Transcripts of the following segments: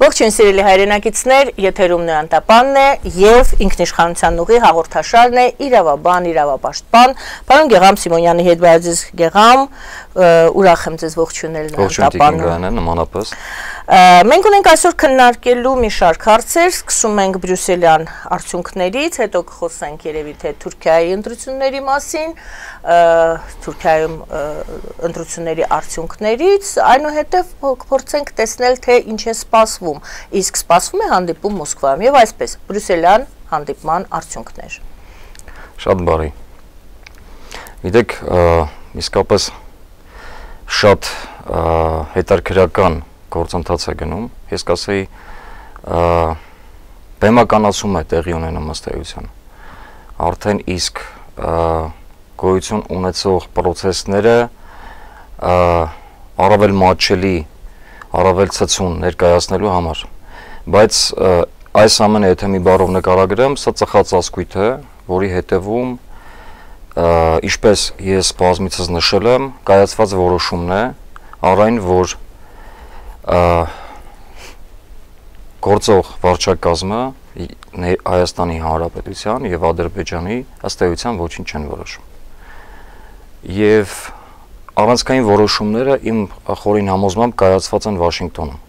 Ողջույն սիրելի հայրենակիցներ, եթերում Նոյանտապանն է եւ ինքնիշխանության ուղի հաղորդաշարն է իրավաբան, իրավապաշտպան, պարոն Գեգամ Սիմոնյանի հետ բարձր Գեգամ, ուրախ եմ ձեզ ողջունել Նոյանտապանում։ Նմանապես։ Մենք ունենք այսօր քննարկելու մի շարք հարցեր, սկսում ենք բրյուսելյան արդյունքներից, հետո կխոսենք երևի թե Թուրքիայի ընտրությունների մասին, Թուրքիայում ընտրությունների արդյունքներից, այնուհետև կփորձենք տեսնել թե ինչ է սպասվում, իսկ սպասվում է հանդիպում Մոսկվայում եւ այսպես բրյուսելյան հանդիպման արդյունքներ։ Շատ բարի։ Գիտեք, իսկապես շատ հետաքրքրական գործընթաց է գնում, ես կասեի բեմականացում է տեղի ունենում ըստ էության։ Արդեն իսկ գոյություն ունեցող process-ները առավել մատչելի, առավել ցցուն ներկայացնելու համար։ Բայց այս ամենը եթե մի բառով նկարագրեմ, սա ծխած ասկույթ է, որի հետևում ինչպես ես բազմիցս նշել եմ, կայացված որոշումն է, առայն որ գործող վարչակազմը Հայաստանի Հանրապետության եւ Ադրբեջանի ըստ էության ոչինչ չեն որոշում։ Եվ առանցքային որոշումները իմ խորին համոզմամբ կայացված են Վաշինգտոնում։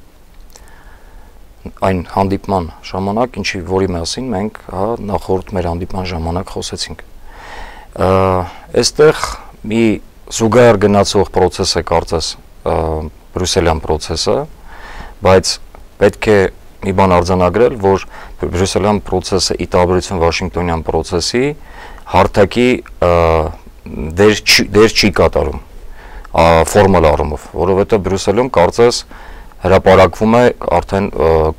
Այն հանդիպման ժամանակ, ինչի որի մասին մենք նախորդ մեր հանդիպման ժամանակ խոսեցինք։ Այստեղ մի զուգահեռ գնացող process է կարծես բրյուսելյան process-ը, բայց պետք է մի բան արձանագրել, որ բրյուսելյան process-ը ի տարբերություն Վաշինգտոնյան process-ի հարթակի դեր չի կատարում ֆորմալ առումով, որովհետև Բրյուսելում կարծես հրապարակվում է արդեն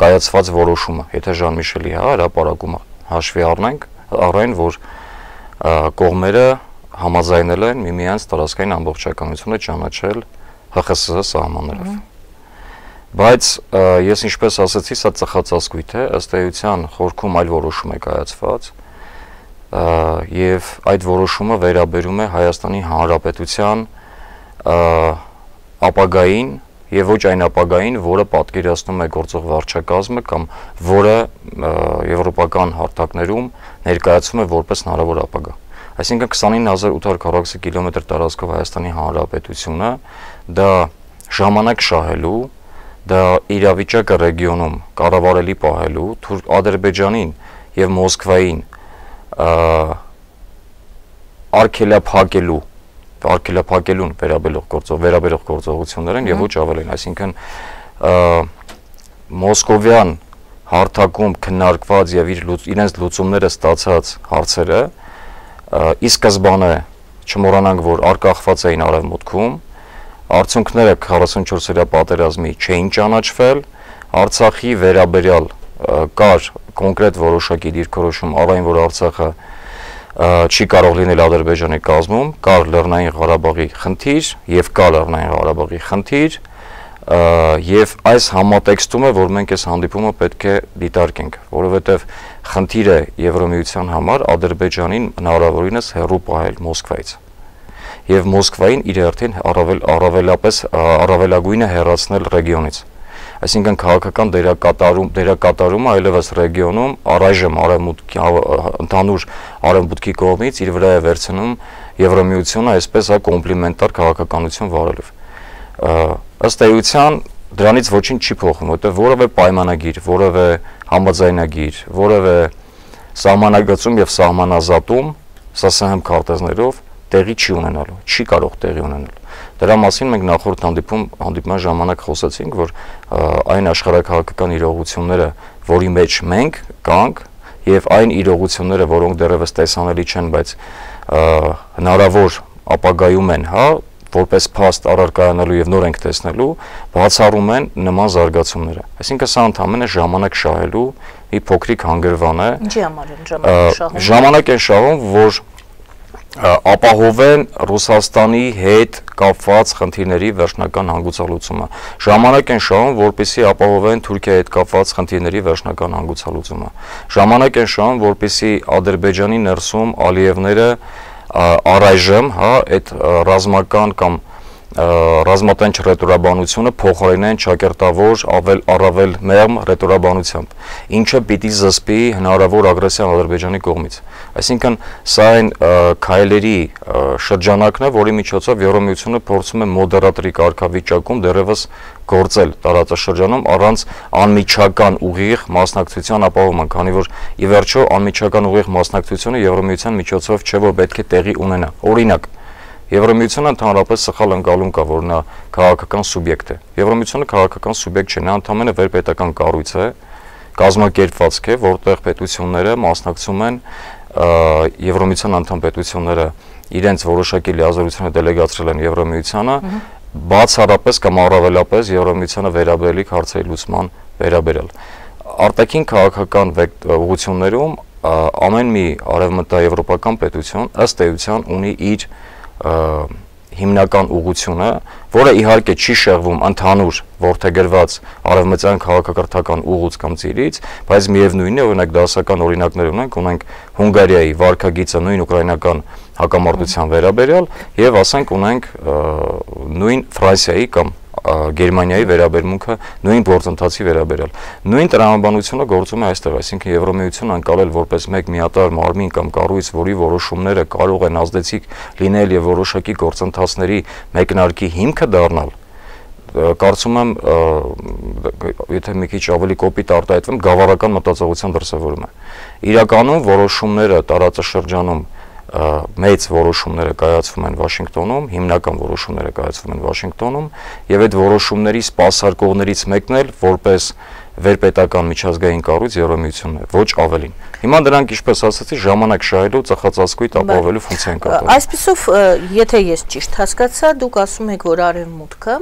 կայացված որոշումը, եթե Ժան-Միշելի հրապարակումը հաշվի առնեն, որ կողմերը համաձայնել են միմյանց տարածքային ամբողջականությունը ճանաչել ՀԽՍՀ սահմաններով։ Բայց ես ինչպես ասացի, սա ծխած ասկույթ է, ըստ էության խորքում այլ որոշում է կայացված եւ այդ որոշումը վերաբերում է Հայաստանի Հանրապետության ապագային եւ ոչ այն ապագային, որը պատկերացնում է գործող վարչակազմը կամ որը եվրոպական հարթակներում ներկայացվում է որպես հնարավոր ապագա։ Այսինքն 29840 կիլոմետր տարածքով Հայաստանի Հանրապետությունը դա ժամանակ շահելու, դա իրավիճակը ռեգիոնում կառավարելի պահելու, Ադրբեջանին եւ Մոսկվային արգելափակելուն վերաբերող գործողություններ են եւ ոչ ավելին, այսինքն մոսկովյան հարթակում քննարկված եւ իրենց լուծումները ստացած հարցերը ի սկզբանե չմոռանանք, որ արկախված էին արևմուտքում, արդյունքները 44-օրյա պատերազմի չէին ճանաչվել, Արցախի վերաբերյալ կար կոնկրետ որոշակի դիրքորոշում, առայն որ Արցախը չի կարող լինել Ադրբեջանի կազմում, կար Լեռնային Ղարաբաղի խնդիր եւ կա Լեռնային Ղարաբաղի խնդիր եւ այս համատեքստում է, որ մենք այս հանդիպումը պետք է դիտարկենք, որովհետեւ խնդիրը Եվրոմիության համար Ադրբեջանին հնարավորինս հեռու պահել Մոսկվայից եւ Մոսկվային իր հերթին առավելագույնը հեռացնել ռեգիոնից։ Այսինքն քաղաքական դերակատարումը այլևս ռեգիոնում առայժմ ընդհանուր արևմուտքի կողմից իր վրա է վերցնում Եվրոմիությունը, այսպես կոմպլիմենտար քաղաքականություն վարելով։ Ըստ էության դրանից ոչինչ չի փոխվում, որտեղ որևէ պայմանագիր, որևէ համաձայնագիր, որևէ սահմանագծում եւ սահմանազատում ՍՍՀ քարտեզներով տեղի չի ունենալու, չի կարող տեղի ունենալ։ Դրա մասին մենք նախորդ հանդիպման ժամանակ խոսեցինք, որ այն աշխարհակաղակական իրողությունները, որի մեջ մենք կանք, եւ այն իրողությունները, որոնք դեռևս տեսանելի չեն, բայց հնարավոր ապագայում են, որպես փաստ առարկայանալու եւ նոր ենք տեսնելու, բացառում են նման զարգացումները։ Այսինքն սա ընդհանրապես ժամանակ շահելու մի փոքրիկ հանգրվան է։ Ինչի համար են ժամանակ շահում։ Ժամանակ են շահում, որ ապահովեն Ռուսաստանի հետ կապված խնդիրների վերջնական հանգուցալուծումը։ Ժամանակ են շահում, որպեսզի ապահովեն Թուրքիայի հետ կապված խնդիրների վերջնական հանգուցալուծումը։ Ժամանակ են շահում, որպեսզի Ադրբեջանի ներսում Ալիևները առայժմ, այդ ռազմական կամ ռազմատենչ ռետորաբանությունը փոխարինեն ճակերտավոր առավել մեղմ ռետորաբանությամբ, ինչը պիտի զսպի հնարավոր ագրեսիան Ադրբեջանի կողմից։ Այսինքն սա այն քայլերի շրջանակն է, որի միջոցով Եվրամիությունը փորձում է մոդերատորի կարգավիճակում դեռևս գործել տարածաշրջանում առանց անմիջական ուղիղ մասնակցության ապահովման, քանի որ ի վերջո անմիջական ուղիղ մասնակցությունը Եվրամիության միջոցով չէ, որ պետք է տեղի ունենա։ Օրինակ, Եվրամիությունը ընդհանրապես սխալ ընկալում կա, որ նա քաղաքական սուբյեկտ է։ Եվրամիությունը քաղաքական սուբյեկտ չէ, նա ընդհանրապես վերպետական կառույց է, կազմակերպվածք է, որտեղ պետությունները մասնակցում են Եվրամիության անդամ պետությունները իրենց որոշակի լիազորությունը դելեգացրել են Եվրամիությանը, բացառապես կամ առավելապես Եվրամիությանը վերաբերելիք հարցերի լուծման վերաբերել։ Արտաքին քաղաքական ուղղություններում ամեն մի արևմտաեվրոպական պետություն ըստ էության ունի իր հիմնական ուղղությունը, որը իհարկե չի շեղվում ընդհանուր որդեգրված արևմտյան քաղաքակրթական ուղուց կամ ծիրից, բայց միևնույնն է, օրինակ դասական օրինակներ ունենք Հունգարիայի վարքագիծը նույն ուկրաինական հակամարտության վերաբերյալ եւ ասենք ունենք նույն Ֆրանսիայի կամ Գերմանիայի վերաբերմունքը նույն գործընթացի վերաբերյալ։ Նույն տրամաբանությունը գործում է այստեղ, այսինքն Եվրամիությունը անցալել որպես մեկ միատարր մարմին կամ կառույց, որի որոշումները կարող են ազդեցիկ լինել եւ որոշակի գործընթացների մեկնարկի հիմքը դառնալ, կարծում եմ, եթե մի քիչ ավելի կոպիտ արտահայտվեմ, գավառական մտածողության դրսևորում է։ Իրականում որոշումները տարածաշրջանում մեծ որոշումները կայացվում են Վաշինգտոնում, հիմնական որոշումները կայացվում են Վաշինգտոնում, եւ այդ որոշումների սպասարկողներից մեկն էլ որպես վերպետական միջազգային կառույց Եվրամիությունն է, ոչ ավելին։ Հիմա դրանք, ինչպես ասացի, ժամանակ շահելու ծխածածկույթ ապահովելու ֆունկցիա են կատարում։ Այսպիսով, եթե ես ճիշտ հասկացա, դուք ասում եք, որ Արևմուտքը,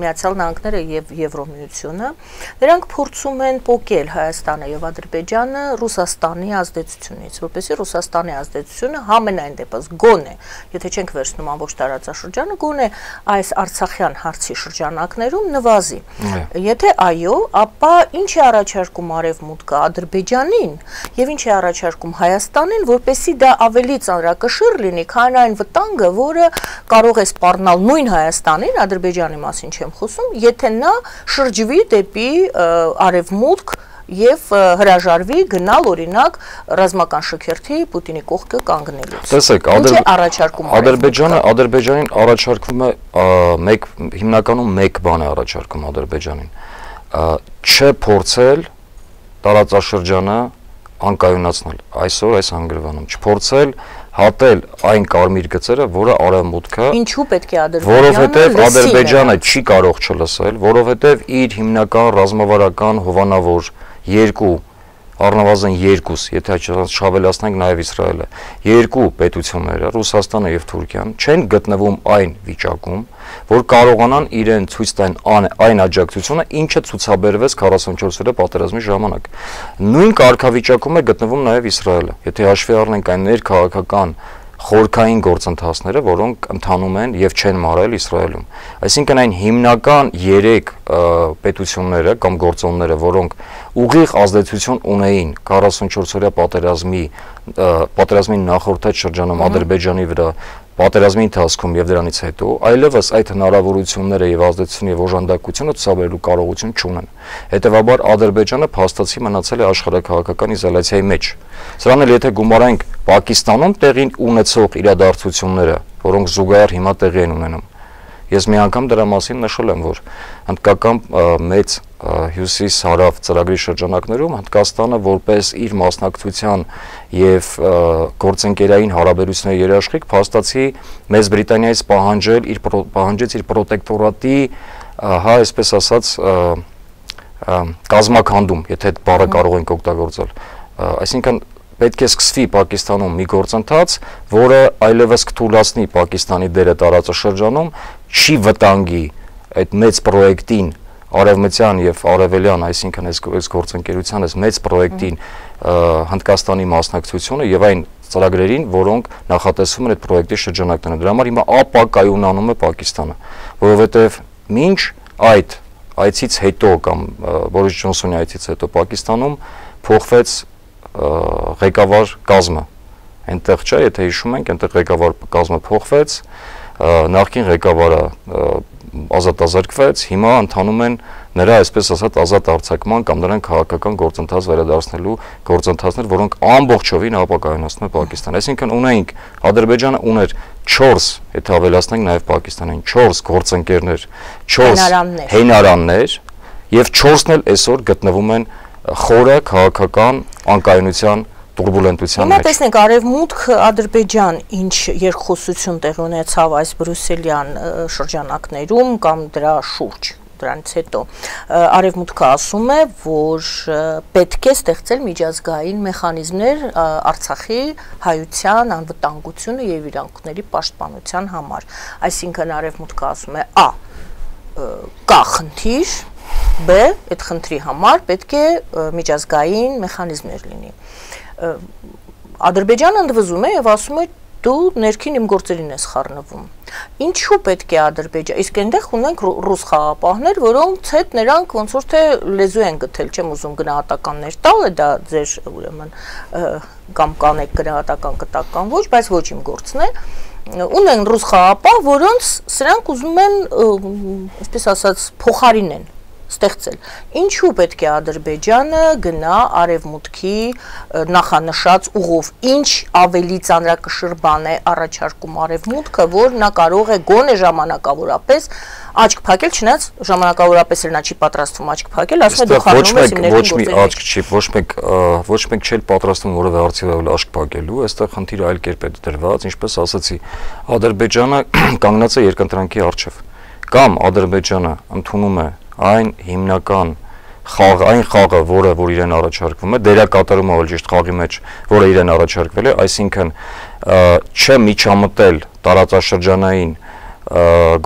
Միացյալ Նահանգները եւ Եվրամիությունը, նրանք փորձում են պոկել Հայաստանը եւ Ադրբեջանը Ռուսաստանի ազդեցությունից, որպեսզի Ռուսաստանի ազդեցությունը համենայն դեպս գոնե, եթե չենք վերցնում ամբողջ տարածաշրջանը, գոնե այս Արցախյան հարցի շրջանակներում նվազի։ Եթե այո, ապա ինչ է առաջարկում Արևմուտքը Ադրբեջանին եւ ինչ է առաջարկում Հայաստանին, որպեսզի դա ավելի ծանրակշիռ լինի, քան այն վտանգը, որը կարող է սպառնալ նույն Հայաստանին, Ադրբեջանի մասին չեմ խոսում, եթե նա շրջվի դեպի Արևմուտք եւ հրաժարվի գնալ օրինակ ռազմական շքերթի Պուտինի կողքը կանգնելուց։ Տեսեք, Ադրբեջանին առաջարկվում է հիմնականում մեկ բան է առաջարկում Ադրբեջանին։ Չփորձել տարածաշրջանը անկայունացնել այսօր այս հանգրվանում, չփորձել հատել այն կարմիր գծերը, որը Արևմուտքը ինչու պետք է Ադրբեջանը, որովհետև Ադրբեջանը չի կարող չլսել, որովհետև իր հիմնական ռազմավարական հովանավոր երկու առնվազն երկուս, եթե շավելացնենք նաև Իսրայելը, երկու պետությունները, Ռուսաստանը եւ Թուրքիան, չեն գտնվում այն վիճակում, որ կարողանան իրեն ցույց տան այն աջակցությունը, ինչը ցուցաբերվեց 44 օրյա պատերազմի ժամանակ։ Նույն կարգավիճակում է գտնվում նաև Իսրայելը։ Եթե հաշվի առնենք այն ներքաղաքական խորքային գործընթացները, որոնք ընթանում են եւ չեն մարել Իսրայելում։ Այսինքն այն հիմնական 3 պետությունները կամ գործոնները, որոնք ուղիղ ազդեցություն ունեին 44 օրյա պատերազմի նախորդած շրջանում Ադրբեջանի վրա պատերազմի ընթացքում եւ դրանից հետո, այլևս այդ հնարավորությունները եւ ազդեցությունը եւ օժանդակությունը ցուցաբերելու կարողություն չունեն։ Հետևաբար Ադրբեջանը փաստացի մնացել է աշխարհակաղակական իզոլացիայի մեջ։ Սրան էլ եթե գումարենք Պակիստանում տեղի ունեցող իրադարձությունները, որոնք զուգահեռ հիմա տեղի են ունենում, ես մի անգամ դրա մասին նշել եմ, որ հնդկական մեծ հյուսիս-հարավ ծրագրի շրջանակներում Հնդկաստանը որպես իր մասնակցության եւ գործընկերային հարաբերությունների երաշխիք փաստացի Մեծ Բրիտանիայից պահանջեց իր պրոտեկտորատի, այսպես ասած, կազմաքանդում, եթե այդ բառը կարող ենք օգտագործել։ Այսինքն պետք է սկսվի Պակիստանում մի գործընթաց, որը այլևս կթույլատնի Պակիստանի դերը տարածաշրջանում, չի վտանգի այդ մեծ պրոյեկտին արևմտյան եւ արևելյան, այսինքն այս գործընկերության այս մեծ պրոյեկտին Հնդկաստանի մասնակցությունը եւ այն ծրագրերին, որոնք նախատեսվում են այդ պրոյեկտի շրջանակներում։ Դրա համար հիմա ապակայունանում է Պակիստանը, որովհետեւ մինչ այդ այցից հետո կամ Բորիս Ջոնսոնի այցից հետո Պակիստանում փոխվեց ղեկավար կազմը։ Այնտեղ չէ, եթե հիշում ենք, այնտեղ ղեկավար կազմը փոխվեց, նախկին ղեկավարը ազատազրկվեց, հիմա ընթանում են նրա այսպես ասած ազատ արձակման կամ նրան քաղաքական գործընթաց վերադարձնելու գործընթացներ, որոնք ամբողջովին ապակայունացնում են Պակիստանը։ Այսինքն ունեինք Ադրբեջանը ուներ 4, եթե ավելացնենք նաև Պակիստանին, 4 գործընկերներ, 4 հենարաններ եւ 4-ն էլ այսօր գտնվում են խորը քաղաքական անկայունության տուրբուլենտության մեջ։ Հիմա տեսնենք Արևմուտք Ադրբեջան ինչ երկխոսություն տեղի ունեցավ այս բրյուսելյան շրջանակներում կամ դրա շուրջ, դրանից հետո Արևմուտքը ասում է, որ պետք է ստեղծել միջազգային մեխանիզմներ Արցախի հայության անվտանգությունը եւ իրավունքների պաշտպանության համար։ Այսինքն Արևմուտքը ասում է կա խնդիր, B այդ խնդրի համար պետք է միջազգային մեխանիզմներ լինի։ Ադրբեջանը ընդվզում է եւ ասում է դու ներքին իմ գործերին ես խառնվում։ Ինչու պետք է Ադրբեջան, իսկ այնտեղ ունենք ռուս խաղապահներ, որոնց հետ նրանք ոնց որ թե լեզու են գտել, չեմ ուզում գնահատականներ տալ, դա ձեր ուրեմն կամ կանեք գնահատական կտական ոչ, բայց ոչ իմ գործն է։ Ունեն ռուս խաղապահ, որոնց սրանք ուզում են, այսպես ասած, փոխարինեն ստեղծել։ Ինչու պետք է Ադրբեջանը գնա Արևմուտքի նախանշած ուղով, ինչ ավելի ծանրակշիռ բան է առաջարկում Արևմուտքը, որ նա կարող է գոնե ժամանակավորապես աչք փակել, չնայած ժամանակավորապես էլ նա չի պատրաստվում աչք փակել, ասում է դու խառնում ես իմ ներքին գործերին։ Ոչ մի աչք չի, ոչ մեկ չի պատրաստվում որևէ արդյունավետ աչք փակելու, այստեղ խնդիրը այլ կերպ է դրված, ինչպես ասացի, Ադրբեջանը կանգնած է երկընտրանքի առջև, կամ Ադրբեջանը ընդունում է այն հիմնական այն խաղը, որը որ իրեն առաջարկվում է, դերակատարումը ավելի ճիշտ խաղի մեջ, որը իրեն առաջարկվել է, այսինքն չմիջամտել տարածաշրջանային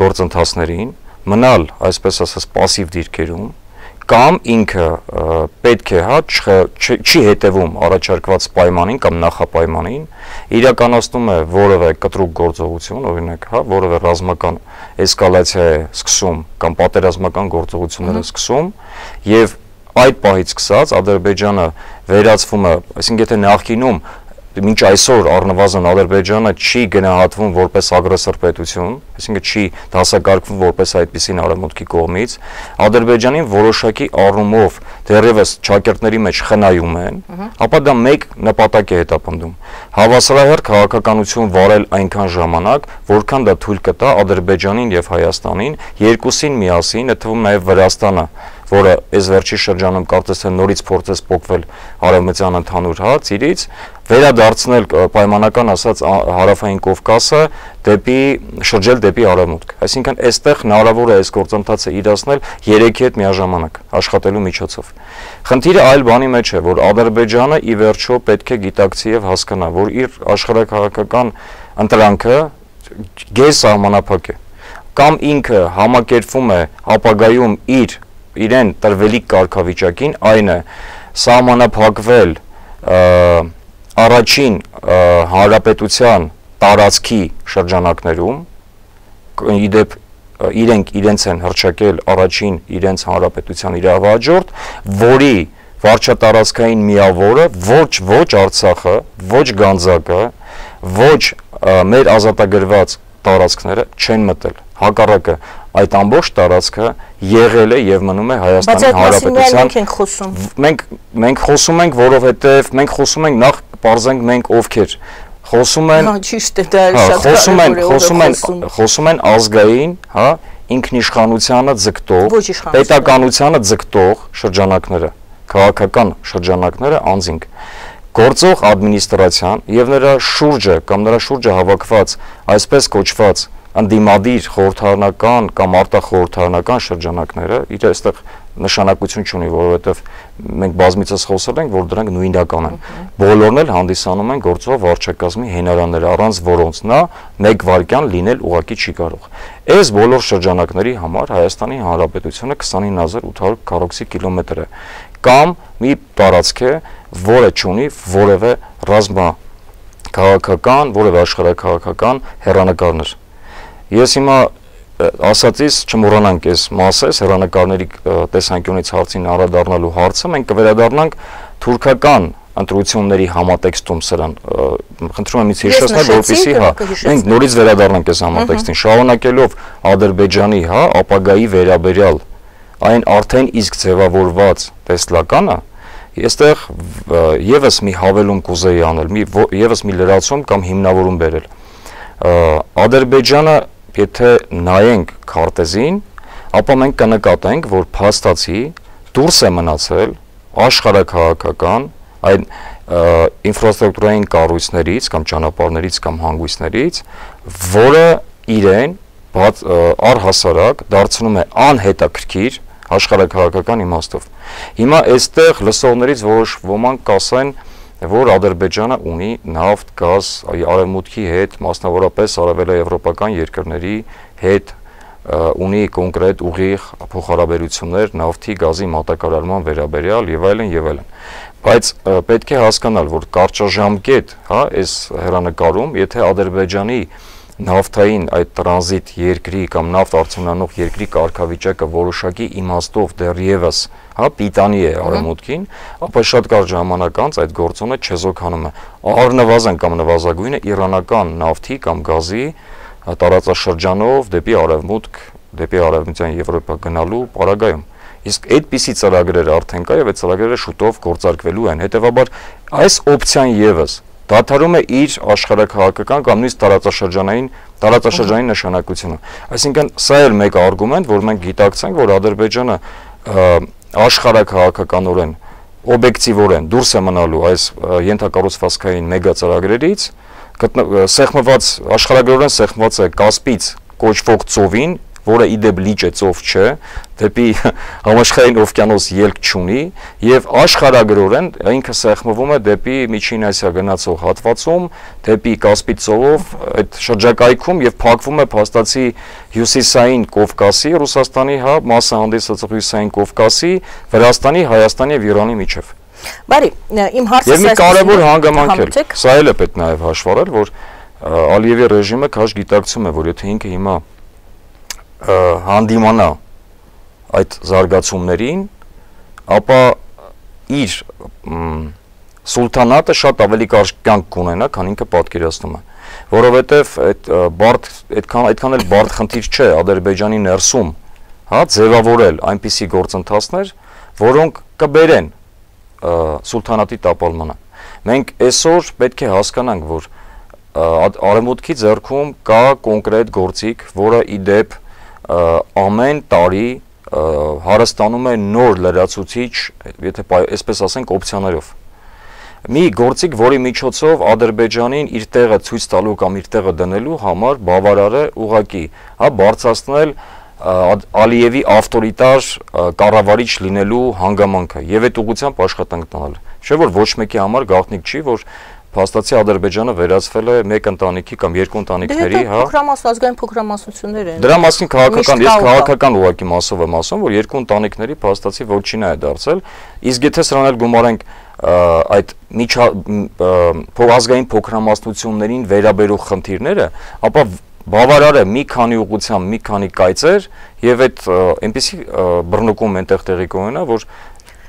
գործընթացներին, մնալ, այսպես ասած, пассив դիրքերում, կամ ինքը պետք է չի հետևում առաջարկված պայմանին կամ նախապայմանին, իրականացնում է որևէ կտրուկ գործողություն, օրինակ, որևէ ռազմական էսկալացիա է սկսում կամ պատերազմական գործողություններ է սկսում եւ այդ պահից սկսած Ադրբեջանը վերածվում է, այսինքն եթե նախկինում մինչ այսօր առնվազն Ադրբեջանը չի գնահատվում որպես ագրեսոր պետություն, այսինքն չի դասակարգվում որպես այդպիսին Արևմուտքի կողմից, Ադրբեջանին որոշակի առումով դեռևս ճակերտների մեջ խնայում են, ապա դա մեկ նպատակ է հետապնդում. հավասարահեռ քաղաքականություն վարել այնքան ժամանակ, որքան դա թույլ կտա Ադրբեջանին եւ Հայաստանին երկուսին միասին, այդ թվում նաեւ Վրաստանը, որը այս վերջի շրջանում կարծես թե նորից փորձեց փոխվել արևմտյան ընդհանուր ծիրից, վերադարձնել պայմանական ասած հարավային Կովկասը շրջել դեպի արևմուտք։ Այսինքն այստեղ հնարավոր է այս գործընթացը իրացնել 3-ի հետ միաժամանակ աշխատելու միջոցով։ Խնդիրը այլ բանի մեջ է, որ Ադրբեջանը ի վերջո պետք է գիտակցի եւ հասկանա, որ իր աշխարհակահաղական ընտրանքը գերսահմանափակ է, կամ ինքը համակերպվում է ապագայում իրեն տրվելիք կարգավիճակին, այն է սահմանափակվել առաջին հանրապետության տարածքի շրջանակներում, իդեպ իրենց են հռչակել առաջին իրենց հանրապետության իրավահաջորդ, որի վարչատարածքային միավորը ոչ Արցախը, ոչ Գանձակը, ոչ մեր ազատագրված տարածքները չեն մտել, հակառակը այդ ամբողջ տարածքը եղել է եւ մնում է Հայաստանի Հանրապետության։ Մենք խոսում ենք, որովհետեւ մենք խոսում ենք նախ պարզենք մենք ովքեր խոսում են, խոսում են ազգային, ինքնիշխանությանը ձգտող, պետականությանը ձգտող շրջանակները, քաղաքական շրջանակները անձինք գործող ադմինիստրացիան եւ նրա շուրջը կամ նրա շուրջը հավաքված այսպես կոչված անդիմադիր խորհրդարանական կամ արտախորհրդարանական շրջանակները իր այստեղ նշանակություն չունի, որովհետև մենք բազմիցս խոսել ենք, որ դրանք նույնական են։ Բոլորն էլ հանդիսանում են գործող վարչակազմի հենարաններ, առանց որոնց նա մեկ վայրկյան լինել ուղղակի չի կարող։ Այս բոլոր շրջանակների համար Հայաստանի Հանրապետությունը 29800 քառակուսի կիլոմետր է կամ մի տարածք է, որը չունի որևէ ռազմաքաղաքական, որևէ աշխարհաքաղաքական հեռանկարներ։ Ես հիմա ասածից չմոռանանք այս մասես հեռանկարների տեսանկյունից հարցին անդրադառնալու հարցը, մենք կվերադառնանք թուրքական ընտրությունների համատեքստում սրան խնդրում եմ ինձ հիշեցնել, որպեսզի մենք նորից վերադառնանք այս համատեքստին, շարունակելով Ադրբեջանի, ապագայի վերաբերյալ այն արդեն իսկ ձևավորված տեսլականը, այստեղ եւս մի հավելում կուզեի անել, եւս մի լրացում կամ հիմնավորում բերել։ Ադրբեջանը, եթե նայենք քարտեզին, ապա մենք կնկատենք, որ փաստացի դուրս է մնացել աշխարհաքաղաքական այն ինֆրաստրուկտուրային կառույցներից կամ ճանապարհներից կամ հանգույցներից, որը իրեն առհասարակ դարձնում է անհետաքրքիր աշխարհաքաղաքական իմաստով։ Հիմա այստեղ լսողներից ոմանք կասեն, որ Ադրբեջանը ունի նավթ, գազ, արևմուտքի հետ, մասնավորապես արևելաեվրոպական երկրների հետ ունի կոնկրետ ուղիղ փոխհարաբերություններ նավթի, գազի մատակարարման վերաբերյալ եւ այլն եւ այլն։ Բայց պետք է հասկանալ, որ կարճաժամկետ, այս հեռանկարում, եթե Ադրբեջանի նավթային այդ տրանզիտ երկրի կամ նավթ արձանանող երկրի կարգավիճակը որոշակի իմաստով դեռևս, պիտանի է արևմուտքին, ապա շատ կարճ ժամանակ անց այդ գործոնը չեզոքանում է։ Առնվազն կամ նվազագույնը իրանական նավթի կամ գազի տարածաշրջանով դեպի արևմուտք, դեպի արևմտյան Եվրոպա գնալու պարագայում։ Իսկ այդպիսի ծրագրեր արդեն կա եւ այդ ծրագրերը շուտով գործարկվելու են։ Հետեւաբար այս օպցիան եւս դադարում է իր աշխարհաքաղաքական կամ նույնիսկ տարածաշրջանային նշանակությունը։ Այսինքն սա էլ մեկ արգումենտ, որ մենք գիտակցենք, որ Ադրբեջանը աշխարհաքաղաքականորեն օբյեկտիվորեն դուրս է մնալու այս ենթակառուցվածքային մեգա ծրագրերից, աշխարհագրորեն սեղմված է Կասպից կոչվող ծովին, որը իդեպ լիճ է, ծով չէ, դեպի համաշխարհային օվկիանոս ելք չունի եւ աշխարհագրորեն ինքը սեղմվում է դեպի Միջին Ասիա գնացող հատվածում, դեպի Կասպի ծովով այդ շրջակայքում եւ փակվում է փաստացի հյուսիսային Կովկասի, Ռուսաստանի, մասը հանդիսացող հյուսիսային Կովկասի, Վրաստանի, Հայաստանի եւ Իրանի միջև։ Բարի, իմ հարցը եւ մի կարևոր հանգամանք է, սա էլ է պետք նաեւ հաշվառել, որ Ալիևի ռեժիմը քաշ գիտակցում է, որ եթե ինքը հիմա հանդիմանա այդ զարգացումներին, ապա իր սուլթանատը շատ ավելի կարճ կյանք կունենա, քան ինքը պատկերացնում է, որովհետև այդքան էլ բարդ խնդիր չէ Ադրբեջանի ներսում, ձևավորել այնպիսի գործընթացներ, որոնք կբերեն սուլթանատի տապալմանը։ Մենք այսօր պետք է հասկանանք, որ արևմուտքի ձեռքում կա կոնկրետ գործիք, որը իդեպ ամեն տարի հարստանում է նոր լրացուցիչ, եթե այսպես ասենք, օպցիաներով։ Մի գործիք, որի միջոցով Ադրբեջանին իր տեղը ցույց տալու կամ իր տեղը դնելու համար բավարար է ուղղակի, բարձրացնել Ալիևի ավտորիտար կառավարիչ լինելու հանգամանքը եւ այդ ուղղությամբ աշխատանք տանել։ Չէ՞ որ ոչ մեկի համար գաղտնիք չի, որ փաստացի Ադրբեջանը վերածվել է մեկ ընտանիքի կամ երկու ընտանիքների, ազգային փոքրամասնություններ են։ Դրա մասին քաղաքական, ես քաղաքական ուղղակի մասով եմ ասում, որ երկու ընտանիքների փաստացի ոչինչ է դարձել, իսկ եթե սրան էլ գումարենք այդ ազգային փոքրամասնություններին վերաբերող խնդիրները, ապա բավարար է մի քանի ուղղությամբ, մի քանի կայծեր եւ այդ այնպեսի բռնկում այնտեղ տեղի կունենա, որ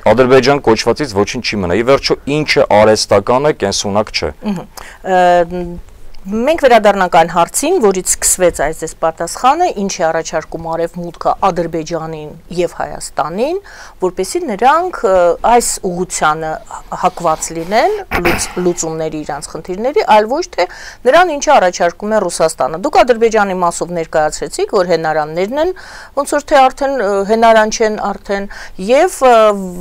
Ադրբեջան կոչվածից ոչինչ չի մնա։ Ի վերջո ինչը արհեստական է, կենսունակ չէ։ Մենք վերադառնանք այն հարցին, որից սկսվեց այս պատասխանը, ինչ է առաջարկում Արևմուտքը Ադրբեջանին եւ Հայաստանին, որպեսզի նրանք այս ուղղությանը հակված լինեն լուծումների իրանց խնդիրների, այլ ոչ թե նրան ինչը առաջարկում է Ռուսաստանը։ Դուք Ադրբեջանի մասով ներկայացրեցիք, որ հենարաններն են, ոնց որ թե արդեն հենարան չեն արդեն, եւ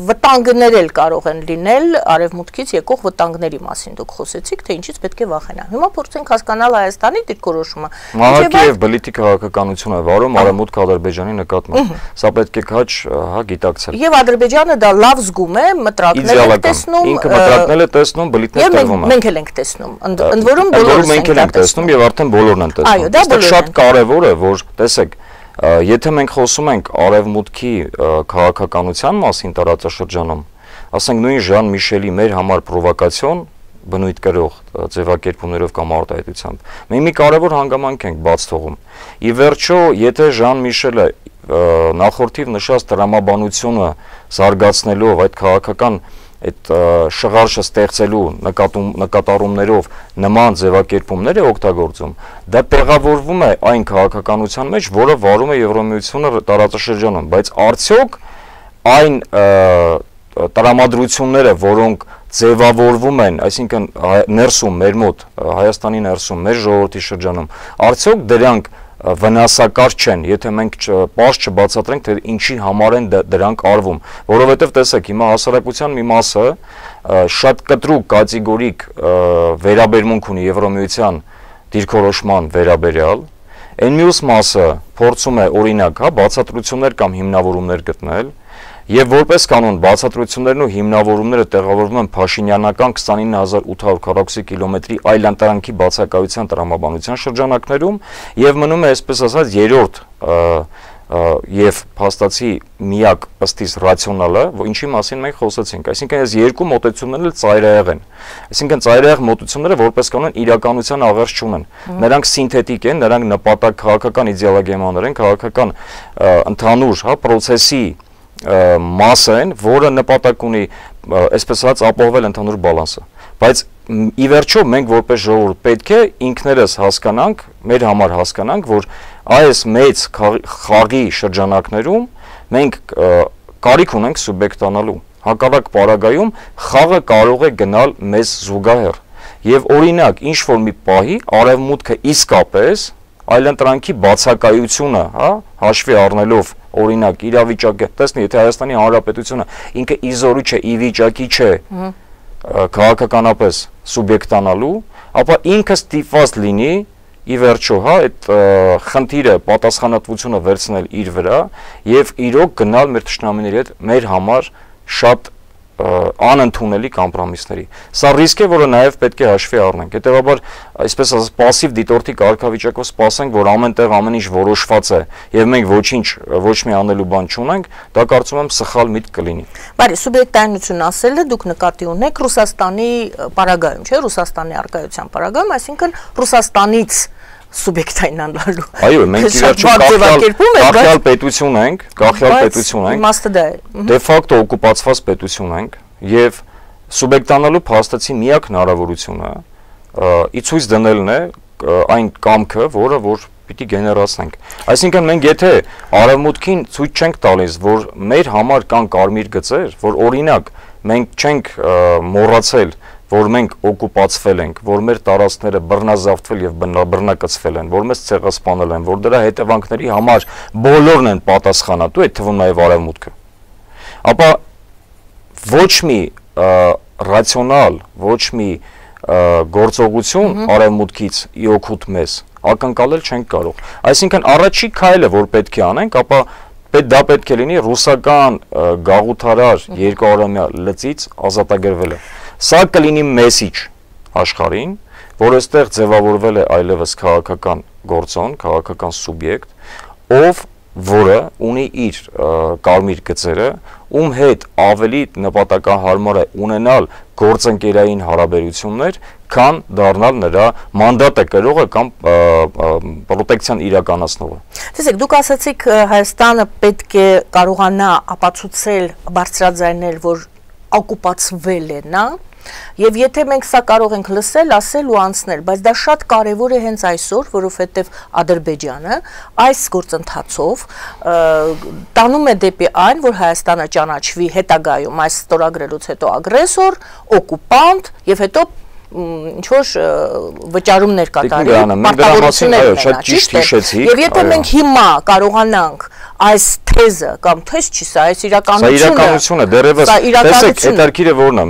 վտանգներ էլ կարող են լինել Արևմուտքից եկող վտանգների մասին դուք խոսեցիք, թե ինչից պետք է վախենան։ Հիմա փորձենք հասկանալ Հայաստանի դիրքորոշումը։ Մահակի եւ բլիթի քաղաքականություն է վարում Արևմուտք Ադրբեջանի նկատմամբ։ Սա պետք է քաչ գիտակցել։ Եվ Ադրբեջանը դա լավ զգում է, մտրակներ է տեսնում, ինքը մտրակներ է տեսնում, բլիթներ տրվում է։ Մենք էլ ենք տեսնում։ Ընդ որում բոլորս մենք էլ ենք տեսնում եւ արդեն բոլորն են տեսնում։ Այո, շատ կարեւոր է, որ տեսեք, եթե մենք խոսում ենք Արևմուտքի քաղաքականության մասին տարածաշրջանում, ասենք նույն Ժան Միշելի մեր համար պրովոկացիոն բնույթ կրող ձևակերպումներով կամ արտահայտությամբ, մենք մի կարևոր հանգամանք ենք բաց թողում։ Ի վերջո, եթե Ժան Միշելը նախորդիվ նշած տրամաբանությունը զարգացնելով այդ քաղաքական այդ շղարշը ստեղծելու նկատառումներով նման ձևակերպումներ է օգտագործում, դա տեղավորվում է այն քաղաքականության մեջ, որը վարում է Եվրամիությունը տարածաշրջանում, բայց արդյոք այն տրամադրությունները, որոնք ձևավորվում են, այսինքն ներսում մեր մոտ, Հայաստանի ներսում, մեր ժողովրդի շրջանում, արդյոք դրանք վնասակար չեն, եթե մենք պարզ չբացատրենք, թե ինչի համար են դրանք արվում, որովհետև տեսեք, հիմա հասարակության մի մասը շատ կտրուկ կատեգորիկ վերաբերմունք ունի Եվրամիության դիրքորոշման վերաբերյալ, այն մյուս մասը փորձում է օրինակ, բացատրություններ կամ հիմնավորումներ գտնել, եւ որպես կանոն բացատրություններն ու հիմնավորումները տեղավորվում են Փաշինյանական 29800 քառակուսի կիլոմետրի այլընտրանքի բացակայության տրամաբանության շրջանակներում եւ մնում է այսպես ասած երրորդ եւ փաստացի միակ ըստիս ռացիոնալը, ինչի մասին մենք խոսեցինք, այսինքն այս երկու մոտեցումներն էլ ծայրահեղ են, այսինքն ծայրահեղ մոտեցումները որպես կանոն իրականության աղերս չունեն, նրանք սինթետիկ են, նրանք նպատակ քաղաքական իդեալոգիաներ են, քաղաքական ընդհանուր պրոցեսի մասը են, որը նպատակ ունի, այսպես ասած, ապահովել ընդհանուր բալանսը, բայց ի վերջո մենք որպես ժողովուրդ պետք է ինքներս հասկանանք, մեր համար հասկանանք, որ այս մեծ խաղի շրջանակներում մենք կարիք ունենք սուբյեկտանալու, հակառակ պարագայում խաղը կարող է գնալ մեզ զուգահեռ, եւ օրինակ ինչ որ մի պահի արևմուտքը իսկապես այլընտրանքի բացակայությունը, հաշվի առնելով օրինակ իրավիճակը, տեսնի, եթե Հայաստանի Հանրապետությունը ինքը իզորի չէ, ի վիճակի չէ քաղաքականապես սուբյեկտանալու, ապա ինքը ստիպված լինի ի վերջո, այդ խնդիրը պատասխանատվությունը վերցնել իր վրա եւ իրոք գնալ մեր թշնամիների հետ մեր համար շատ անընդունելի կոմպրոմիսների։ Սա ռիսկ է, որը նաև պետք է հաշվի առնենք։ Հետևաբար, այսպես ասած, пассив դիտորդի կարգավիճակով սպասենք, որ ամենտեղ ամեն ինչ որոշված է, եւ մենք ոչ մի անելու բան չունենք, դա կարծում եմ սխալ միտք կլինի։ Բարի, սուբյեկտայնություն ասելը դուք նկատի ունեք Ռուսաստանի պարագայում, չէ՞, Ռուսաստանի արկայության պարագայում, այսինքն Ռուսաստանից սուբյեկտայնանալու։ Այո, մենք ի վերջո գաղթյալ պետություն ենք, իմաստը դա է։ Դե ֆակտո օկուպացված պետություն ենք եւ սուբյեկտանալու փաստացի միակ հնարավորությունը ի ցույց դնելն է այն կամքը, որ պիտի գեներացնենք։ Այսինքն մենք եթե արևմուտքին ցույց չենք տալիս, որ մեր համար կան կարմիր գծեր, որ օրինակ մենք չենք մոռացել, որ մենք օկուպացվել ենք, որ մեր տարածքները բռնազավթվել եւ բռնակցվել են, որ մեզ ցեղասպանել են, որ դրա հետևանքների համար բոլորն են պատասխանատու, այդ թվում նաեւ արևմուտքը։ Ապա ոչ մի ռացիոնալ, ոչ մի գործողություն արևմուտքից ի օգուտ մեզ ակնկալել չենք կարող։ Այսինքն առաջի քայլը, որ պետք է անենք, ապա դա պետք է լինի ռուսական գաղութարար երկարամյա լծից ազատագրվելը։ Սա կլինի մեսիջ աշխարհին, որ այստեղ ձևավորվել է այլևս քաղաքական գործոն, քաղաքական սուբյեկտ, ով որը ունի իր կարմիր գծերը, ում հետ ավելի նպատակահարմար է ունենալ գործընկերային հարաբերություններ, քան դառնալ նրա մանդատը կրողը կամ պրոտեկցիան իրականացնողը։ Տեսեք, դուք ասացիք Հայաստանը պետք է կարողանա ապացուցել, բարձրաձայնել, որ օկուպացվել է նա, եւ եթե մենք սա կարող ենք լսել, ասել ու անցնել, բայց դա շատ կարեւոր է հենց այսօր, որովհետեւ Ադրբեջանը այս գործընթացով տանում է դեպի այն, որ Հայաստանը ճանաչվի հետագայում այս ստորագրելուց հետո ագրեսոր, օկուպանտ եւ հետո ինչ-որ վճարումներ կատարի, պարտավորություններ շատ ճիշտ հիշեցիք։ Եվ եթե մենք հիմա կարողանանք այս թեզը կամ թեզ չի, սա այս իրականությունը, դեռևս տեսեք, հետարքիրը որն է,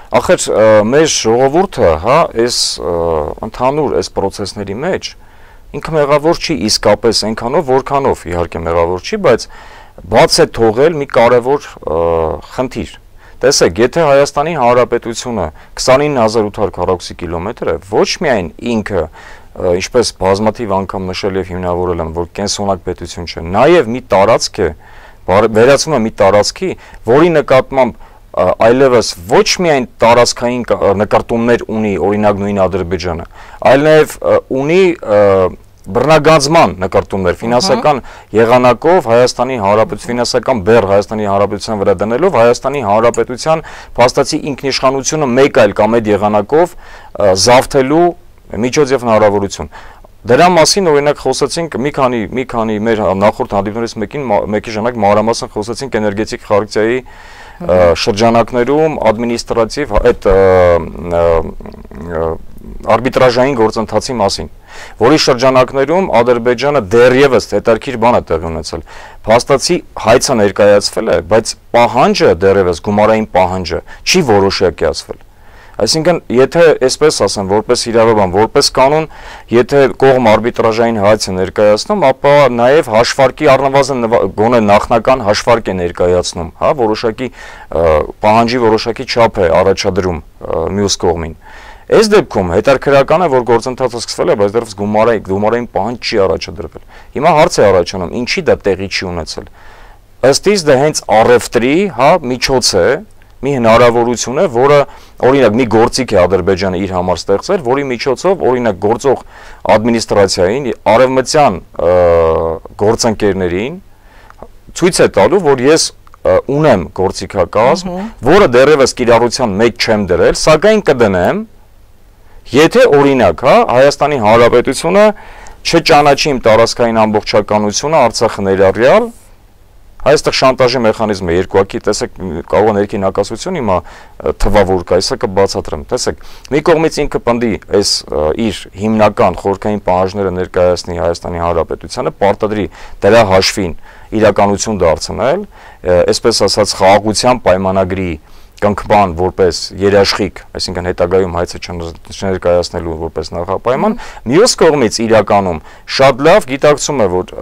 մեր ժողովուրդը, այս ընդհանուր այս process-ների մեջ ինքը մեղավոր չի իսկապես այնքանով, որքանով իհարկե մեղավոր չի, բայց բաց է թողել մի կարևոր խնդիր։ Տեսեք, եթե Հայաստանի Հանրապետությունը 29800 քառակուսի կիլոմետր է, ոչ միայն ինքը, ինչպես բազմաթիվ անգամ նշել եւ հիմնավորել եմ, որ կենսոնակ պետություն չէ, նաեւ մի տարածք է, վերածվում է մի տարածքի, որի նկատմամբ այլևս ոչ միայն տարածքային նկարտումներ ունի, օրինակ նույն Ադրբեջանը, այլ նաեւ ունի բռնագանձման նկարտումներ, ֆինանսական եղանակով Հայաստանի Հանրապետության ֆինանսական բեռ Հայաստանի Հանրապետության վրա դնելով Հայաստանի Հանրապետության փաստացի ինքնիշխանությունը մեկ այլ կամ այդ եղանակով զավթելու միջոց եւ հնարավորություն։ Դրա մասին օրինակ խոսեցինք մի քանի մեր նախորդ հանդիպումներից մեկի ժամանակ մանրամասն խոսեցինք էներգետիկ խարակցիայի շրջանակներում ադմինիստրատիվ այդ արբիտրաժային գործընթացի մասին, որի շրջանակներում Ադրբեջանը դեռևս հետարքիր բան է տեղի ունեցել։ Փաստացի հայցը ներկայացվել է, բայց պահանջը դեռևս գումարային պահանջը չի որոշակիացվել։ Այսինքն, եթե այսպես ասեմ, որպես իրավաբան, որպես կանոն, եթե կողմ արբիտրաժային հայց է ներկայացնում, ապա նաև հաշվարկի առնվազն գոնե նախնական հաշվարկ է ներկայացնում, հա, որոշակի պահանջի որոշակի չափ է առաջադրում մյուս կողմին։ Այս դեպքում հետաքրքրական է, որ գործընթացը սկսվել է, բայց դեռևս գումարային պահանջ չի առաջադրվել։ Հիմա հարց է առաջանում, ինչի դա տեղի չի ունեցել։ Ըստ իս դա հենց առևտրի, հա, միջոց է, մի հնարավորություն է, որը օրինակ մի գործիք է Ադրբեջանը իր համար ստեղծել, որի միջոցով օրինակ գործող ադմինիստրացիային, արևմտյան գործընկերներին ցույց է տալու, որ ես ունեմ գործիքակազմ, որը դեռևս կիրառության մեջ չեմ դրել, սակայն կդնեմ, եթե օրինակ, հա, Հայաստանի Հանրապետությունը չճանաչի իմ տարածքային ամբողջականությունը Արցախը ներառյալ, այստեղ շանտաժի մեխանիզմը երկուակի, տեսեք, կարող է ներքին հակասություն հիմա թվավոր կա, այսա կբացատրեմ, տեսեք, մի կողմից ինքը պնդի այս իր հիմնական խորհրդային պահանջները ներկայացնի Հայաստանի Հանրապետությանը, պարտադրի դրա հաշվին իրականություն դարձնել, այսպես ասած խաղաղության պայմանագրի կնքման որպես երաշխիք, այսինքն հետագայում հայցը չներկայացնելու որպես նախապայման, մյուս կողմից իրականում շատ լավ գիտակցում է, որ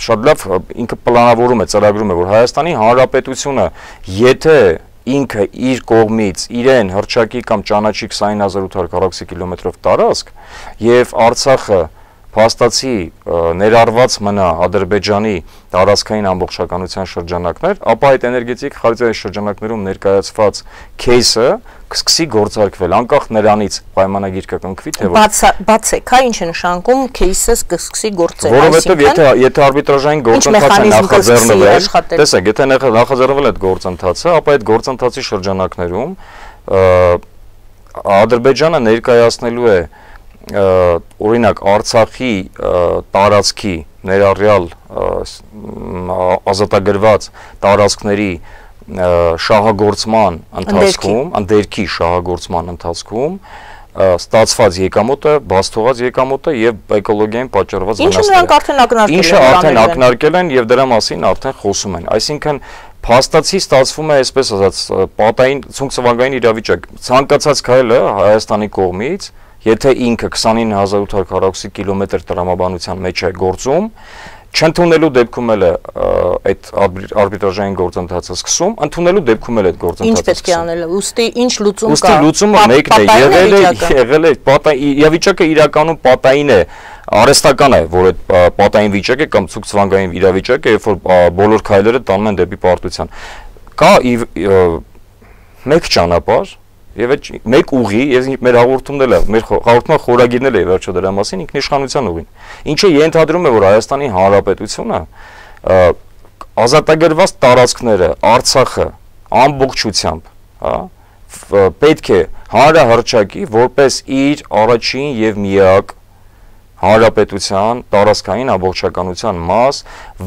շատ լավ ինքը պլանավորում է, ծրագրում է, որ Հայաստանի Հանրապետությունը, եթե ինքը իր կողմից իրեն հռչակի կամ ճանաչի 20840 կիլոմետրով տարածք եւ Արցախը փաստացի ներառված մնա Ադրբեջանի տարածքային ամբողջականության շրջանակներ, ապա այդ էներգետիկ խարակցիայի շրջանակներում ներկայացված քեյսը կսկսի գործարկվել, անկախ նրանից պայմանագիր կկնքվի, թե բացեք, հա, ինչ է նշանակում քեյսը կսկսի գործել, որովհետև եթե արբիտրաժային գործընթացը նախաձեռնվել, տեսեք, եթե նախաձեռնվել այդ գործընթացը, ապա այդ գործընթացի շրջանակներում Ադրբեջանը ներկայացնելու է օրինակ Արցախի տարածքի ներառյալ ազատագրված տարածքների շահագործման ընթացքում, ընդերքի շահագործման ընթացքում ստացված եկամուտը, բաց թողած եկամուտը եւ էկոլոգիային պատճառված վնասները։ Ինչը արդեն ակնարկել են եւ դրա մասին արդեն խոսում են։ Այսինքն փաստացի ստացվում է, այսպես ասած, պատային ցունցվանգային իրավիճակ։ Ցանկացած քայլը Հայաստանի կողմից, եթե ինքը 29840 կիլոմետր տրամաբանության մեջ է գործում, չընդունելու դեպքում էլ այդ արբիտրաժային գործընթացը սկսում, ընդունելու դեպքում էլ այդ գործընթացը ինչ պետք է անել, ուստի ինչ լուծում կա։ Ուստի լուծումը մեկն է, եղել է իրավիճակը իրականում պատային է, արհեստական է, որ այդ պատային վիճակ է կամ ցուցվանգային իրավիճակ է, երբ որ բոլոր քայլերը տանում են դեպի պարտության։ Կա մեկ ճանապարհ եւ այդ մեկ ուղի, եւ մեր հաղորդումն էլ, մեր հաղորդման խորագիրն էլ է վերջո դրա մասին ինքնիշխանության ուղին։ Ինչը ենթադրում է, որ Հայաստանի Հանրապետությունը ազատագրված տարածքները, Արցախը ամբողջությամբ, հա, պետք է հանրահռչակի որպես իր առաջին եւ միակ հանրապետության տարածքային ամբողջականության մաս,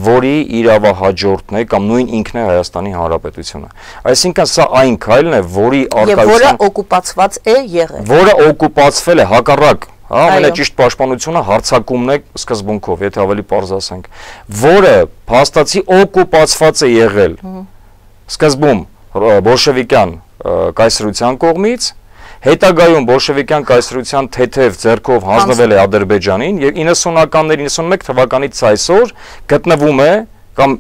որի իրավահաջորդն է կամ նույն ինքն է Հայաստանի Հանրապետությունը։ Այսինքն սա այն քայլն է, որի արկայության որը օկուպացված է եղել։ Որը օկուպացվել է հակառակ, հա, ամենաճիշտ պաշտպանությունը հարձակումն է սկզբունքով, եթե ավելի պարզ ասենք, որը փաստացի օկուպացված է եղել սկզբում բոլշևիկյան կայսրության կողմից, հետագայում բոլշևիկյան կայսրության թեթև ձեռքով հանձնվել է Ադրբեջանին եւ 90-ականների 91 թվականից այսօր գտնվում է կամ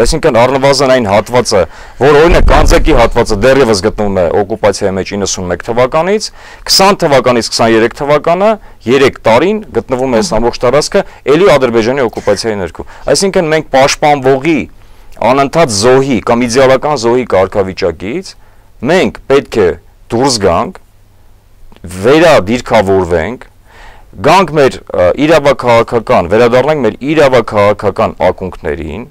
այսինքն առնվազն այն հատվածը, որ օրինակ Կանձակի հատվածը դեռևս գտնվում է օկուպացիայի մեջ 91 թվականից, 20 թվականից 23 թվականը 3 տարին գտնվում է այս ամբողջ տարածքը ելի Ադրբեջանի օկուպացիայի ներքո։ Այսինքն մենք պաշտպանվողի անընդհատ զոհի կամ իդեալական զոհի կարգավիճակից մենք պետք է դուրս գանք, վերադիրքավորվենք, գանք մեր իրավաքաղաքական, վերադառնանք մեր իրավաքաղաքական ակունքներին,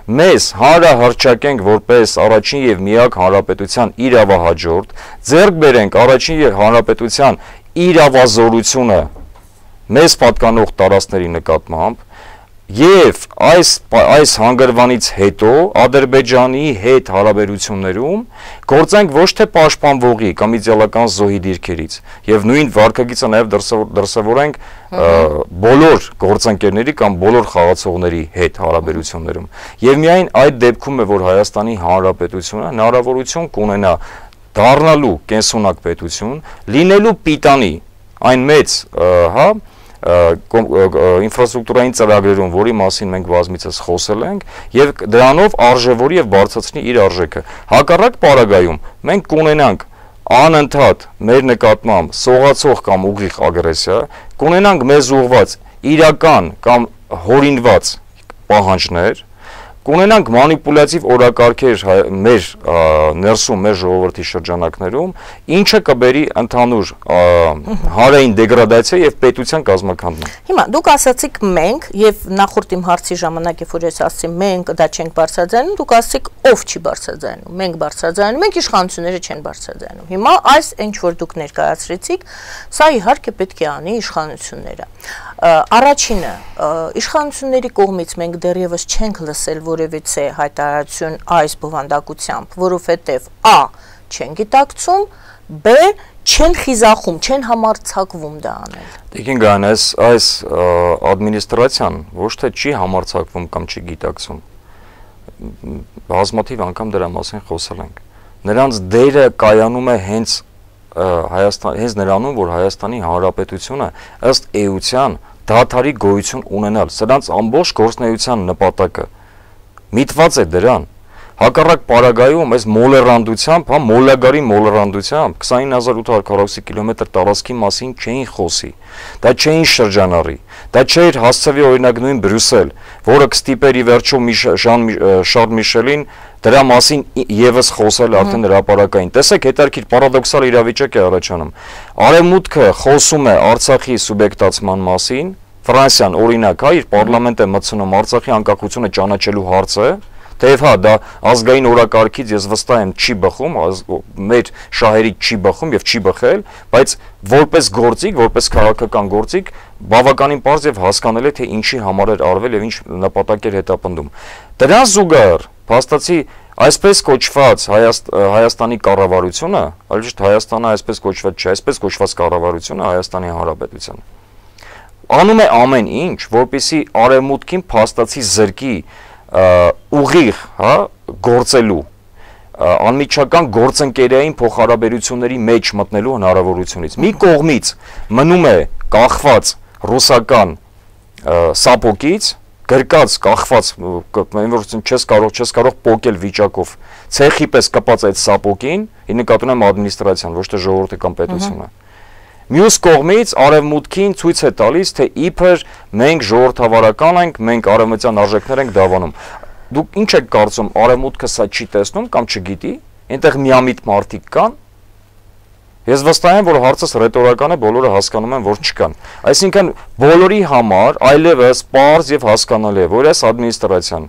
մեզ հանրահռչակենք որպես առաջին եւ միակ հանրապետության իրավահաջորդ, ձեռք բերենք առաջին եւ հանրապետության իրավազորությունը մեզ պատկանող տարածքների նկատմամբ եւ այս հանգրվանից հետո Ադրբեջանի հետ հարաբերություններում գործենք ոչ թե պաշտպանվողի կամ իդեալական զոհի դիրքերից եւ նույն վարկագիծը նաեւ դրսեւորենք բոլոր գործընկերների կամ բոլոր խաղացողների հետ հարաբերություններում եւ միայն այդ դեպքում է որ Հայաստանի Հանրապետությունը հնարավորություն կունենա դառնալու կենսունակ պետություն, լինելու պիտանի այն մեծ, ինֆրաստրուկտուրային ծրագրերում, որի մասին մենք բազմիցս խոսել ենք, եւ դրանով արժևորի եւ բարձրացնի իր արժեքը։ Հակառակ պարագայում մենք կունենանք անընդհատ մեր նկատմամբ սողացող կամ ուղիղ ագրեսիա, կունենանք մեզ ուղղված իրական կամ հորինված պահանջներ, կունենանք մանիպուլյատիվ օրակարգեր մեր ներսում, մեր ժողովրդի շրջանակներում, ինչը կբերի ընդհանուր հանրային դեգրադացիա եւ պետության կազմաքանդման։ Հիմա դուք ասացիք մենք եւ նախորդ իմ հարցի ժամանակ երբ որ ես ասացի մենք դա չենք բարձրաձայնում, դուք ասացիք ով չի բարձրաձայնում, մենք բարձրաձայնում ենք, իշխանությունները չեն բարձրաձայնում։ Հիմա այս ինչ որ դուք ներկայացրեցիք, սա իհարկե պետք է անի իշխանությունները։ Առաջինը, իշխանությունների կողմից մենք դեռևս չենք լսել որևիցե հայտարարություն այս բովանդակությամբ, որովհետև a. չեն գիտակցում, b. չեն խիզախում, չեն համարձակվում դա անել։ Տիկին Գայանես, այս ադմինիստրացիան ոչ թե չի համարձակվում կամ չի գիտակցում, բազմաթիվ անգամ դրա մասին խոսել ենք։ Նրանց դերը կայանում է հենց նրանում, որ Հայաստանի Հանրապետությունը ըստ էության դադարի գոյություն ունենալ, սրանց ամբողջ գործունեության նպատակը միտված է դրան, հակառակ պարագայում այս մոլերանդությամբ, մոլագարի մոլերանդությամբ 29840 կիլոմետր տարածքի մասին չէին խոսի, դա չէին շրջանառի, դա չէր հասցվի օրինակ նույն Բրյուսել, որը կստիպեր ի վերջո Շարլ Միշելին դրա մասին եւս խոսել արդեն հրապարակային։ Տեսեք, հետարքիր պարադոքսալ իրավիճակ է առաջանում։ Արևմուտքը խոսում է Արցախի սուբյեկտացման մասին, Ֆրանսիան օրինակ իր պարլամենտ է մտցնում Արցախի անկախությունը ճանաչելու հարցը, թեև դա ազգային օրակարգից ես վստահ եմ չի բխում, մեր շահերից չի բխում եւ չի բխել, բայց որպես գործիք, որպես քաղաքական գործիք բավականին պարզ եւ հասկանալի թե ինչի համար էր արվել եւ ինչ նպատակ էր հետապնդում։ Դրան զուգահեռ փաստացի այսպես կոչված Հայաստանի կառավարությունը, այլ ոչ Հայաստանը այսպես կոչված չէ, այսպես կոչված կառավարությունը Հայաստանի Հանրապետության անում է ամեն ինչ, որպեսզի արևմուտքին փաստացի զրկի ուղիղ, գործելու անմիջական գործընկերային փոխհարաբերությունների մեջ մտնելու հնարավորությունից։ Մի կողմից մնում է կախված ռուսական սապոկից, գրկած, կախված, չես կարող պոկել վիճակով, ցեխի պես կպած այդ սապոկին, ի նկատի ունեմ ադմինիստրացիան, ոչ թե ժողովրդի կամ պետությունը։ Մյուս կողմից արևմուտքին ցույց է տալիս, թե իբր մենք ժողովրդավարական ենք, մենք արևմտյան արժեքներ ենք դավանում։ Դուք ինչ եք կարծում, արևմուտքը սա չի տեսնում կամ չգիտի, այնտեղ միամիտ մարդիկ կան։ Ես վստահ եմ, որ հարցս ռետորական է, բոլորը հասկանում են, որ չկան։ Այսինքն բոլորի համար այլևս պարզ եւ հասկանալի է, որ այս ադմինիստրացիան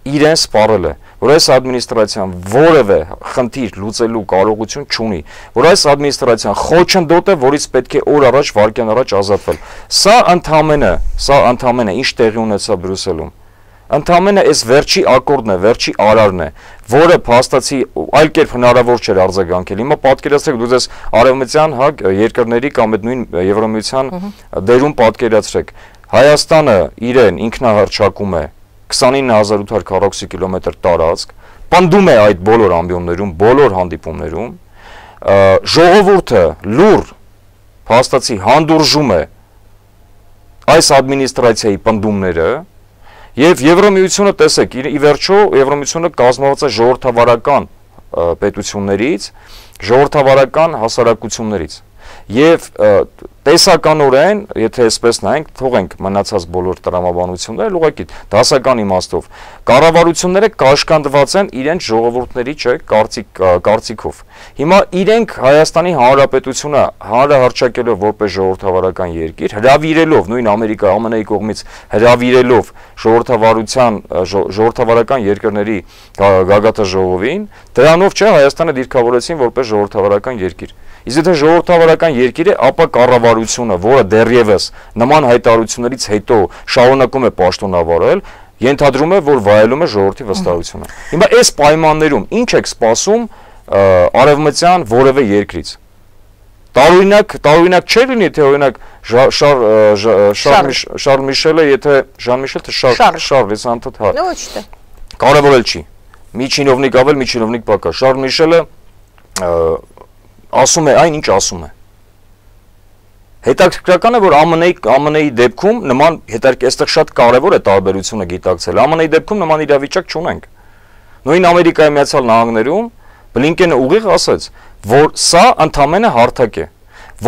իրեն սպառել է, որ այս ադմինիստրացիան որևէ խնդիր լուծելու կարողություն չունի, որ այս ադմինիստրացիան խոչընդոտ է, որից պետք է օր առաջ, վայրկյան առաջ ազատվել։ Սա ընդամենը ինչ տեղի ունեցավ Բրյուսելում։ Ընդամենը այս վերջի ակորդն է, վերջի արարն է, որը փաստացի այլ կերպ հնարավոր չէր արձագանքել։ Հիմա պատկերացրեք դուք ձեզ արևմտյան երկրների կամ այդ նույն Եվրամիության դերում պատկերացրեք։ Հայաստանը իրեն ինքնահռչակում է 29840 կիլոմետր տարածք, պնդում է այդ բոլոր ամբիոններում, բոլոր հանդիպումներում, ժողովուրդը լուր փաստացի հանդուրժում է այս ադմինիստրացիայի պնդումները եւ Եվրամիությունը տեսեք, ի վերջո Եվրամիությունը կազմված է ժողովրդավարական պետություններից, ժողովրդավարական հասարակություններից եւ տեսականորեն, եթե այսպես նայենք, թողենք մնացած բոլոր տրամաբանությունները, ուղղակի դասական իմաստով, կառավարությունները կաշկանդված են իրենց ժողովուրդների, չէ, կարծիքով։ Հիմա իրենք Հայաստանի Հանրապետությունը հանրահռչակելով որպես ժողովրդավարական երկիր, հրավիրելով նույն Ամերիկա ԱՄՆ-ի կողմից հրավիրելով ժողովրդավարական երկրների գագաթաժողովին, դրանով չէ Հայաստանը դիրքավորեցին որպես ժողովրդավարական երկիր։ Իսկ եթե ժողովրդավարական երկիր է, ապա կառավարությունը, որը դեռևս նման հայտարարություններից հետո շարունակում է պաշտոնավարել, ենթադրում է, որ վայելում է ժողովրդի վստահությունը։ Հիմա այս պայմաններում ինչ եք սպասում արևմտյան որևէ երկրից։ Տարօրինակ չէ լինի, թե օրինակ Շարլ Միշելը, եթե Ժան Միշել, թե Շարլ, ես անդադ հա։ Ոչ թե։ Կարևոր էլ չի։ Մի չինովնիկ ավել, մի չինովնիկ պակաս։ Շարլ Միշելը ասում է այն, ինչ ասում է։ Հետաքրքրական է, որ ԱՄՆ-ի դեպքում նման այստեղ շատ կարևոր է տարբերությունը գիտակցել։ ԱՄՆ-ի դեպքում նման իրավիճակ չունենք։ Նույն Ամերիկայի Միացյալ Նահանգներում Բլինկենը ուղիղ ասաց, որ սա ընդամենը հարթակ է։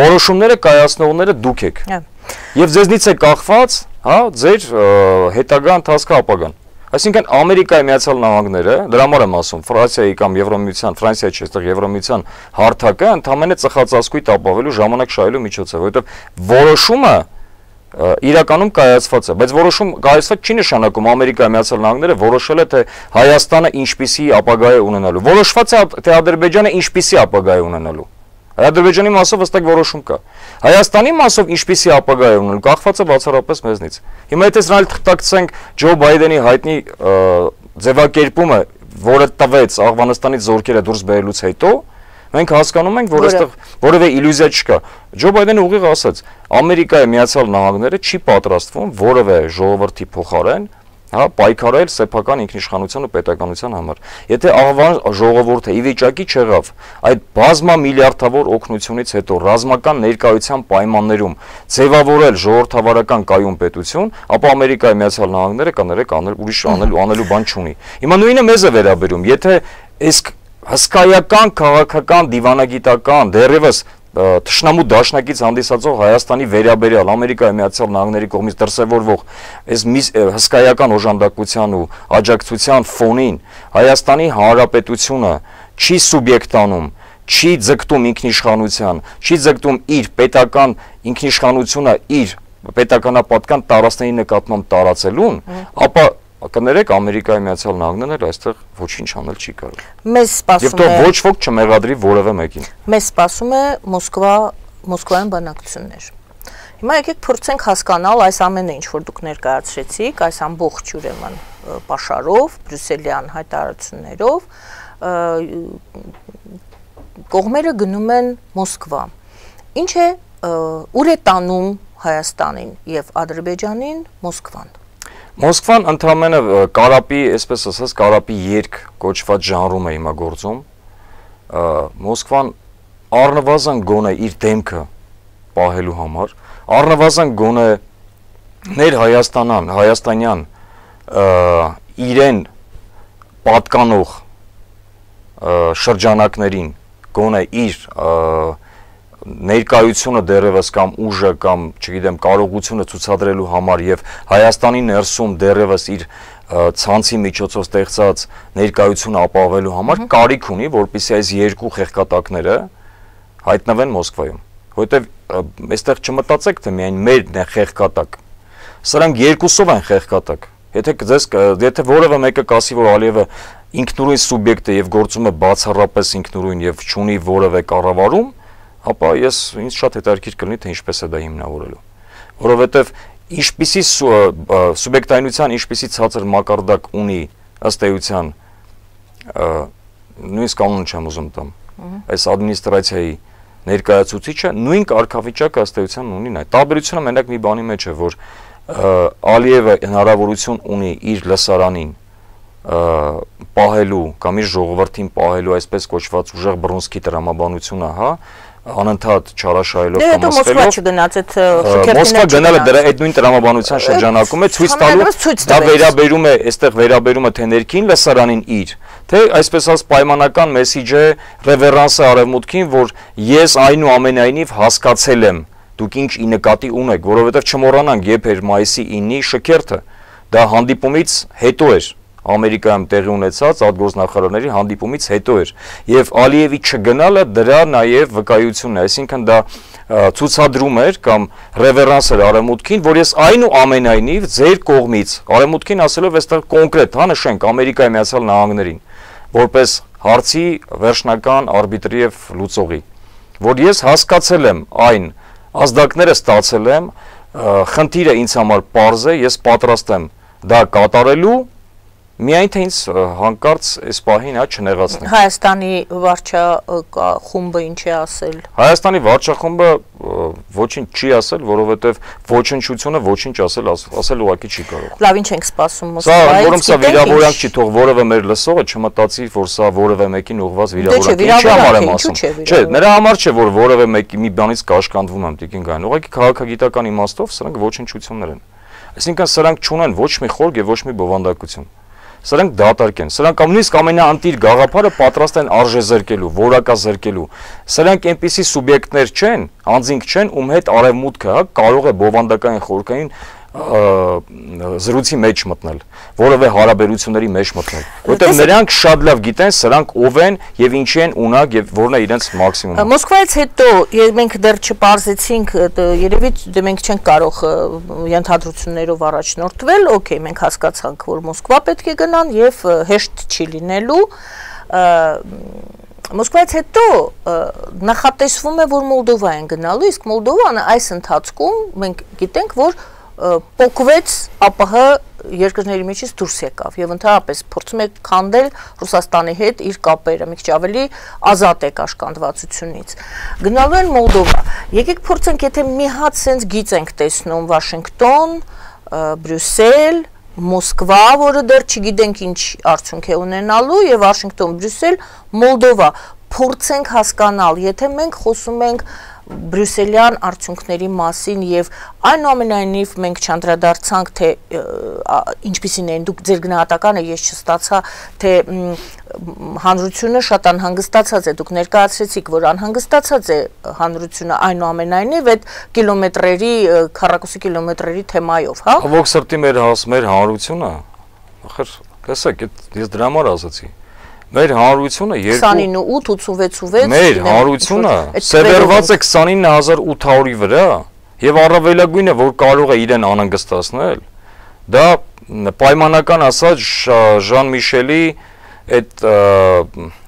Որոշումները կայացնողները դուք եք։ Եվ ձեզնից է կախված, հա, ձեր հետագա ընթացքը ապագան։ Այսինքն Ամերիկայի Միացյալ Նահանգները, դրա համար եմ ասում, Ֆրանսիայի կամ Եվրոմիության, Ֆրանսիա չէ, այստեղ Եվրոմիության հարթակը ընդամենը ծխածասկույթ ապավելու ժամանակ շահելու միջոց է, որովհետև որոշումը իրականում կայացված է, բայց որոշում կայացված չի նշանակում Ամերիկայի Միացյալ Նահանգները որոշել է, թե Հայաստանը ինչպիսի ապագա է ունենալու։ Որոշված է, թե Ադրբեջանը ինչպիսի ապագա է ունենալու։ Ադրբեջանի մասով հստակ որոշում կա։ Հայաստանի մասով ինչպիսի ապագա է ունենալու, կախված է բացառապես մեզնից։ Հիմա եթե սրանալ թղթակցենք Ջո Բայդենի հայտնի ձևակերպումը, որը տվեց Աֆղանստանից զորքերը դուրս բերելուց հետո, մենք հասկանում ենք, որ այստեղ որևէ իլյուզիա չկա։ Ջո Բայդենը ուղիղ ասաց, Ամերիկայի Միացյալ Նահանգները չի պատրաստվում որևէ ժողովրդի փոխարեն, հա, պայքարել սեփական ինքնիշխանության ու պետականության համար։ Եթե Աղվան ժողովուրդը ի վիճակի չեղավ այդ բազմամիլիարդավոր օգնությունից հետո ռազմական ներկայության պայմաններում ձևավորել ժողովրդավարական կայուն պետություն, ապա Ամերիկայի Միացյալ Նահանգները կներեք ուրիշ անելու բան չունի։ Հիմա նույնը մեզ է վերաբերում, եթե այս հսկայական քաղաքական դիվանագիտական դեռևս թշնամու դաշնակից հանդիսացող Հայաստանի վերաբերյալ Ամերիկայի Միացյալ Նահանգների կողմից դրսևորվող այս հսկայական օժանդակության ու աջակցության ֆոնին Հայաստանի Հանրապետությունը չի սուբյեկտանում, չի ձգտում ինքնիշխանության, չի ձգտում իր պետական ինքնիշխանությունը իր պետականապատկան տարածքների նկատմամբ տարածելուն, ապա կներեք Ամերիկայի Միացյալ Նահանգները այստեղ ոչինչ անել չի կարող։ Մեզ սպասում է։ Եվ թող ոչ ոք չմեղադրի որևէ մեկին։ Մեզ սպասում է Մոսկվայում բանակցություններ։ Հիմա եկեք փորձենք հասկանալ այս ամենը, ինչ որ դուք ներկայացրեցիք, այս ամբողջ ուրեմն պաշարով, բրյուսելյան հայտարարություններով, կողմերը գնում են Մոսկվա։ Ինչ է, ուր է տանում Հայաստանին եւ Ադրբեջանին Մոսկվան։ Մոսկվան ընդհանրապես կարապի, այսպես ասած, կարապի երկ կոչված ժանրում է հիմա գործում։ Մոսկվան առնվազն գոնե իր դեմքը պահելու համար, առնվազն գոնե ներ հայաստանյան իրեն պատկանող շրջանակներին գոնե իր ներկայությունը դեռևս կամ ուժը կամ, չգիտեմ, կարողությունը ցուցադրելու համար եւ Հայաստանի ներսում դեռևս իր ցանցի միջոցով ստեղծած ներկայությունը ապահովելու համար կարիք ունի, որպեսզի այս երկու խեղկատակները հայտնվեն Մոսկվայում։ Որովհետեւ այստեղ չմտածեք, թե միայն մերն է խեղկատակ։ Սրանք երկուսով են խեղկատակ։ Եթե որևէ մեկը կասի, որ Ալիևը ինքնուրույն սուբյեկտ է եւ գործում է բացառապես ինքնուրույն եւ չունի որևէ կառավարում, ապա ինձ շատ հետաքրքիր կլինի, թե ինչպես է դա հիմնավորելու։ Որովհետև ինչպիսի սուբյեկտայնության ինչպիսի ցածր մակարդակ ունի ըստ էության նույնիսկ կանոն չեմ ուզում տամ։ Այս ադմինիստրացիայի ներկայացուցիչը նույն կարգավիճակը ըստ էության ունի նա։ Տարբերությունը մենակ մի բանի մեջ է, որ Ալիևը հնարավորություն ունի իր լսարանին պահելու կամ իր ժողովրդին պահելու այսպես կոչված ուժեղ բռունցքի տրամաբանությունը, հա, անընդհատ չարաշահելով կամ ասելով։ Մոսկվա գնալը դրա այդ նույն տրամաբանության շրջանակում է ցույց տալու, դա վերաբերում է, այստեղ վերաբերում է թե ներքին լսարանին իր, թե այսպես ասած պայմանական մեսիջ է ռևերանսը արևմուտքին, որ ես այնուամենայնիվ հասկացել եմ դուք ինչ ի նկատի ունեք, որովհետև չմոռանանք, երբ էր մայիսի 9-ի շքերթը, դա հանդիպումից հետո էր, Ամերիկայում տեղի ունեցած արտգործնախարարների հանդիպումից հետո էր, եւ Ալիևի չգնալը դրա նաեւ վկայությունն է, այսինքն դա ցուցադրում էր կամ ռևերանս էր Արևմուտքին, որ ես այնուամենայնիվ ձեր կողմից Արևմուտքին ասելով այստեղ կոնկրետ, հա նշենք Ամերիկայի Միացյալ Նահանգներին, որպես հարցի վերջնական արբիտրի եւ լուծողի, որ ես հասկացել եմ այն ազդակները ստացել եմ, խնդիրը ինձ համար պարզ է, ես պատրաստ եմ դա կատարելու, միայն թե ինձ հանկարծ այս պահին չնեղացնի։ Հայաստանի վարչախումբը ինչ է ասել։ Հայաստանի վարչախումբը ոչինչ չի ասել, որովհետև ոչնչությունը ոչինչ ասել ուղղակի չի կարող։ Լավ, ինչ ենք սպասում Մոսկվայից։ Որում սա վիրավորանք չի, թող որևէ մեր լսողը չմտածի, որ սա որևէ մեկին ուղղված վիրավորանք է։ Չէ, նրա համար չէ, որ որևէ մեկի մի բանից կաշկանդվում եմ Տիկին Գայան։ Ուղղակի քաղաքագիտական իմաստով սրանք ոչնչություններ են։ Այսինքն սրանք չունեն ոչ մի խորք եւ ոչ մի բովանդակություն։ Սրանք դատարկ են, սրանք նույնիսկ ամենաընտիր գաղափարը պատրաստ են արժեզրկելու, որակազրկելու։ Սրանք այնպիսի սուբյեկտներ չեն, անձինք չեն, ում հետ արևմուտքը կարող է բովանդակային խորքային զրույցի մեջ մտնել, որովե հարաբերությունների մեջ մտնել, որտեղ նրանք շատ լավ գիտեն սրանք ով են եւ ինչի են ունակ եւ որն է իրենց մաքսիմումը։ Մոսկվայից հետո մենք դեռ չպարզեցինք, երևի մենք չենք կարող ենթադրություններով առաջնորդվել, օքեյ, մենք հասկացանք, որ Մոսկվա պետք է գնան եւ հեշտ չի լինելու։ Մոսկվայից հետո նախատեսվում է, որ Մոլդովա են գնալու, իսկ Մոլդովան այս ընթացքում մենք գիտենք, որ փոկվեց ԱՊՀ երկրների միջից դուրս եկավ եւ ընդհանրապես փորձում է քանդել Ռուսաստանի հետ իր կապերը, մի քիչ ավելի ազատ է կաշկանդվածությունից։ Գնալու են Մոլդովա։ Եկեք փորձենք, եթե մի հատ sense գիծ ենք տեսնում Վաշինգտոն, Բրյուսել, Մոսկվա, որը դեռ չգիտենք ինչ արդյունք է ունենալու, եւ Վաշինգտոն, Բրյուսել, Մոլդովա, փորձենք հասկանալ, եթե մենք խոսում ենք բրյուսելյան արդյունքների մասին եւ այնուամենայնիվ մենք չանդրադարձանք, թե ինչպիսին են դուք ձեր գնահատականը ես չստացա, թե հանրությունը շատ անհանգստացած է, դուք ներկայացրեցիք, որ անհանգստացած է հանրությունը այնուամենայնիվ այդ կիլոմետրերի, քառակուսի կիլոմետրերի թեմայով, հա։ Ով սրտի մեր հանրությունը, ախր, տեսեք, ես դրա համար ասացի։ Մեր հանրությունը 29.86 մեր հանրությունը սևեռված է 29800-ի վրա եւ առավելագույնը որ կարող է իրեն անհանգստացնել դա պայմանական ասած Ժան Միշելի այդ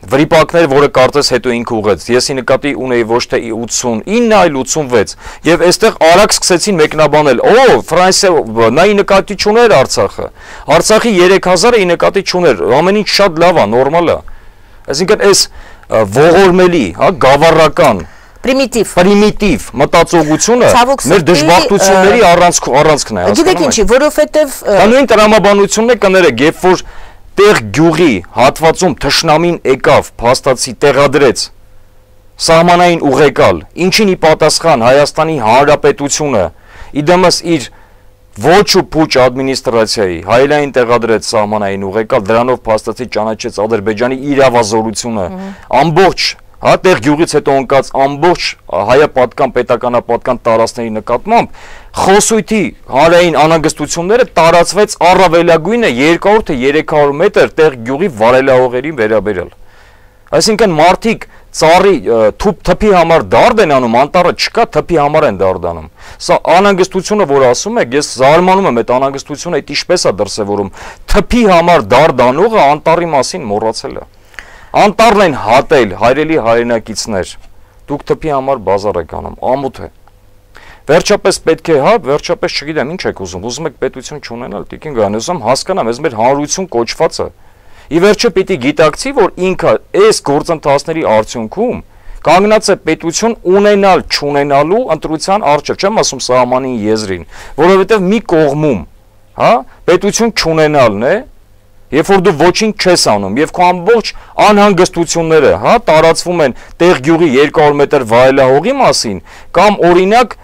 վրիպակները, որը կարծես հետո ինքը ուղեց, եսի նկատի ունեի ոչ թե 89, այլ 86, եւ այստեղ արագ սկսեցին մեկնաբանել, Ֆրանսիա նայի նկատի չուներ Արցախը, Արցախի 3000-ը ի նկատի չուներ, ամեն ինչ շատ լավ է, նորմալ է, այսինքն այս ողորմելի, հա, գավառական պրիմիտիվ մտածողությունը մեր դժբախտությունների առանցքն է, գիտեք ինչի, որովհետեւ դա նույն տրամաբանությունն է կներեք, երբ որ տեղ գյուղի հատվածում թշնամին եկավ, փաստացի տեղադրեց սահմանային ուղեկալ, ինչին ի պատասխան Հայաստանի Հանրապետությունը իդեմս իր ոչ ու փուչ ադմինիստրացիայի հայելային տեղադրեց սահմանային ուղեկալ, դրանով փաստացի ճանաչեց Ադրբեջանի իրավազորությունը, ամբողջ հա տեղ գյուղից հետո ընկած ամբողջ հայապատկան պետականապատկան տարածքների նկատմամբ խոսույթի հանրային անհանգստությունները տարածվեց առավելագույնը 200 թե 300 մետր տեղ գյուղի վարելահողերին վերաբերյալ։ Այսինքն մարդիկ ծառի թփի համար դարդ են անում, անտառը չկա, թփի համար են դարդանում։ Սա անհանգստությունը, որ ասում եք, ես զարմանում եմ այդ անհանգստությունը, այդ ինչպես է դրսևորում։ Թփի համար դարդանողը անտառի մասին մոռացել է։ Անտառն են հատել հայրելի հայրենակիցներ, դուք թփի համար բազար եք անում, ամոթ է։ Վերջապես պետք է, հա, վերջապես չգիտեմ ինչ եք ուզում եք պետություն չունենալ, Տիկին Գայան, ուզում հասկանամ, այս մեր հանրություն կոչվածը։ Ի վերջո պիտի գիտակցի, որ ինքը այս գործընթացների արդյունքում կանգնած է պետություն ունենալ, չունենալու ընտրության առջև, չեմ ասում սահմանին եզրին, որովհետև մի կողմում, հա, պետություն չունենալն է, երբ որ դու ոչինչ չես անում եւ քո ամբողջ անհանգստությունները, հա, տարածվում են տեղ գյուղի 200 մետր վայելահողի մասին կամ օրինակ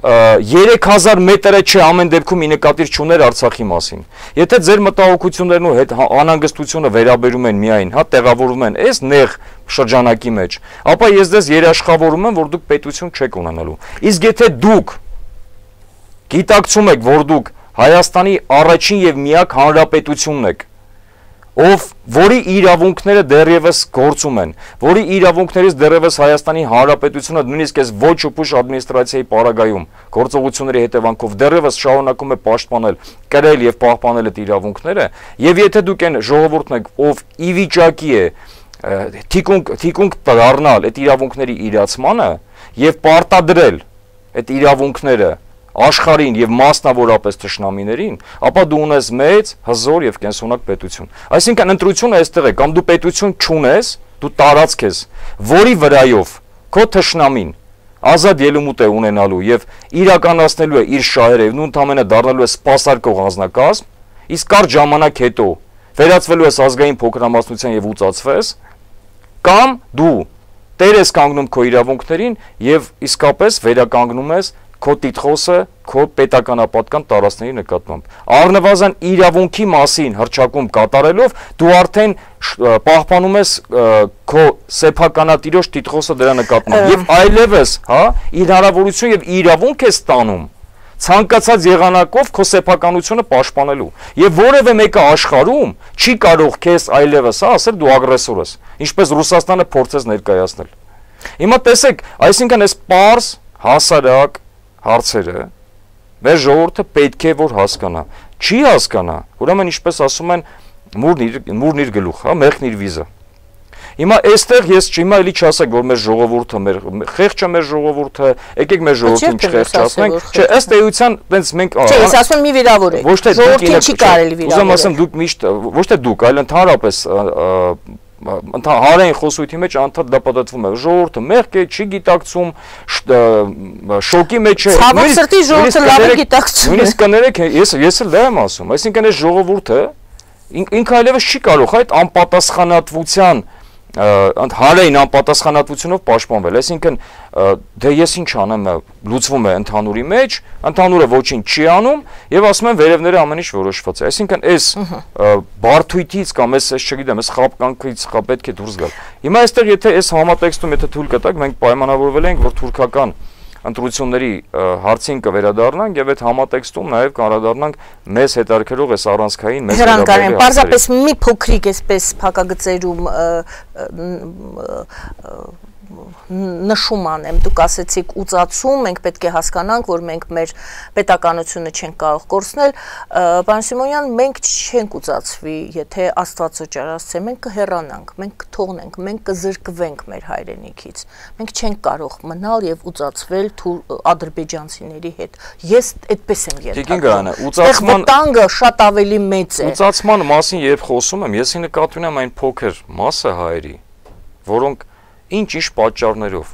3000 մետրը չէ ամեն դեպքում մի նկատիր չուներ Արցախի մասին։ Եթե ձեր մտահոգություններն ու հետ անհանգստությունը վերաբերում են միայն, հա, տեղավորվում են այս նեղ շրջանակի մեջ, ապա ես դες երաշխավորում եմ, որ դուք պետություն չեք ունենալու։ Իսկ եթե դուք գիտակցում եք, որ դուք Հայաստանի առաջին եւ միակ հանրապետությունն եք, որի իրավունքները դեռևս գործում են, որի իրավունքներից դեռևս Հայաստանի Հանրապետությունը նույնիսկ այս ոչ ուշ ադմինիստրացիայի պարագայում գործողությունների հետևանքով դեռևս շարունակում է պաշտպանել, կրել եւ պահպանել այդ իրավունքները, եւ եթե դուք այն ժողովուրդն եք, ով ի վիճակի է թիկունք դառնալ այդ իրավունքների իրացմանը եւ պարտադրել այդ իրավունքները աշխարհին եւ մասնավորապես թշնամիներին, ապա դու ունես մեծ, հզոր եւ կենսունակ պետություն։ Այսինքն ընտրությունը այստեղ է, կամ դու պետություն չունես, դու տարածք ես, որի վրայով քո թշնամին ազատ ելումուտ է ունենալու եւ իրականացնելու է իր շահերը եւ նույն ընդամենը դառնալու է սպասարկող անձնակազմ, իսկ կարճ ժամանակ հետո վերածվելու ես ազգային փոքրամասնության եւ ուծացվես, կամ դու տեր ես կանգնում քո իրավունքներին եւ իսկապես վերականգնում ես քո տիտղոսը, քո պետականապատկան տարածքների նկատմամբ։ Առնվազն իրավունքի մասին հռչակում կատարելով դու արդեն պահպանում ես քո սեփականատիրոջ տիտղոսը դրա նկատմամբ եւ այլևս, հա, իր հնարավորություն եւ իրավունք է ստանում ցանկացած եղանակով քո սեփականությունը պաշտպանելու։ Եվ որևէ մեկը աշխարհում չի կարող քեզ այլևս, հա, ասել դու ագրեսոր ես, ինչպես Ռուսաստանը փորձեց ներկայացնել։ Հիմա տեսեք, այսինքն այս պարզ հասարակ հարցերը մեր ժողովուրդը պետք է որ հասկանա, չի հասկանա, ուրեմն ինչպես ասում են մուրն իր գլուխ, հա, մեղքն իր վիզը։ Հիմա այստեղ ես հիմա էլի չասեք, որ մեր ժողովուրդը, խեղճ է մեր ժողովուրդը, եկեք մեր ժողովրդին չխեղճացնենք, չէ, ըստ էության տենց մենք Չէ, ես ասում եմ մի վիրավորեք։ Ժողովրդին չի կարելի վիրավորել։ Ուզում ասեմ դուք միշտ ոչ թե դուք, այլ ընդհանրապես հանրային խոսույթի մեջ անդադ դա պատտվում է ժողովուրդը մեղք է, չի գիտակցում, շոկի մեջ է։ Ցավոք սրտի ժողովուրդը լավ է գիտակցում։ Նույնիսկ կներեք, ես էլ դա եմ ասում, այսինքն այս ժողովուրդը ինքը այլևս չի կարող այդ անպատասխանատվության հանրային անպատասխանատվությունով պաշտպանվել, այսինքն դե ես ինչ անեմ, լուծվում է ընդհանուրի մեջ, ընդհանուրը ոչինչ չի անում եւ ասում են վերևները ամեն ինչ որոշված է, այսինքն այս բարթույթից կամ այս չգիտեմ, այս խապկանքից պետք է դուրս գալ։ Հիմա այստեղ եթե այս համատեքստում եթե թույլ կտակ, մենք պայմանավորվել ենք, որ թուրքական ընտրությունների հարցին կվերադառնանք եւ այդ համատեքստում նաեւ կանդրադառնանք մեզ հետաքրքրող այս առանցքային մեզ հետաքրքրող պարզապես մի փոքրիկ այսպես փակագծերում նշում անեմ, դուք ասեցիք ուծացում, մենք պետք է հասկանանք, որ մենք մեր պետականությունը չենք կարող կորցնել, պարոն Սիմոնյան, մենք չենք ուծացվի, եթե Աստված օճառասցե, մենք կհեռանանք, մենք կթողնենք, մենք կզրկվենք մեր հայրենիքից, մենք չենք կարող մնալ եւ ուծացվել ադրբեջանցիների հետ, ես այդպես եմ ենթադրում, ուծացման վտանգը շատ ավելի մեծ է։ Ուծացման մասին երբ խոսում եմ, ես նկատի ունեմ այն փոքր մասը հայերի, որոնք ինչ պատճառներով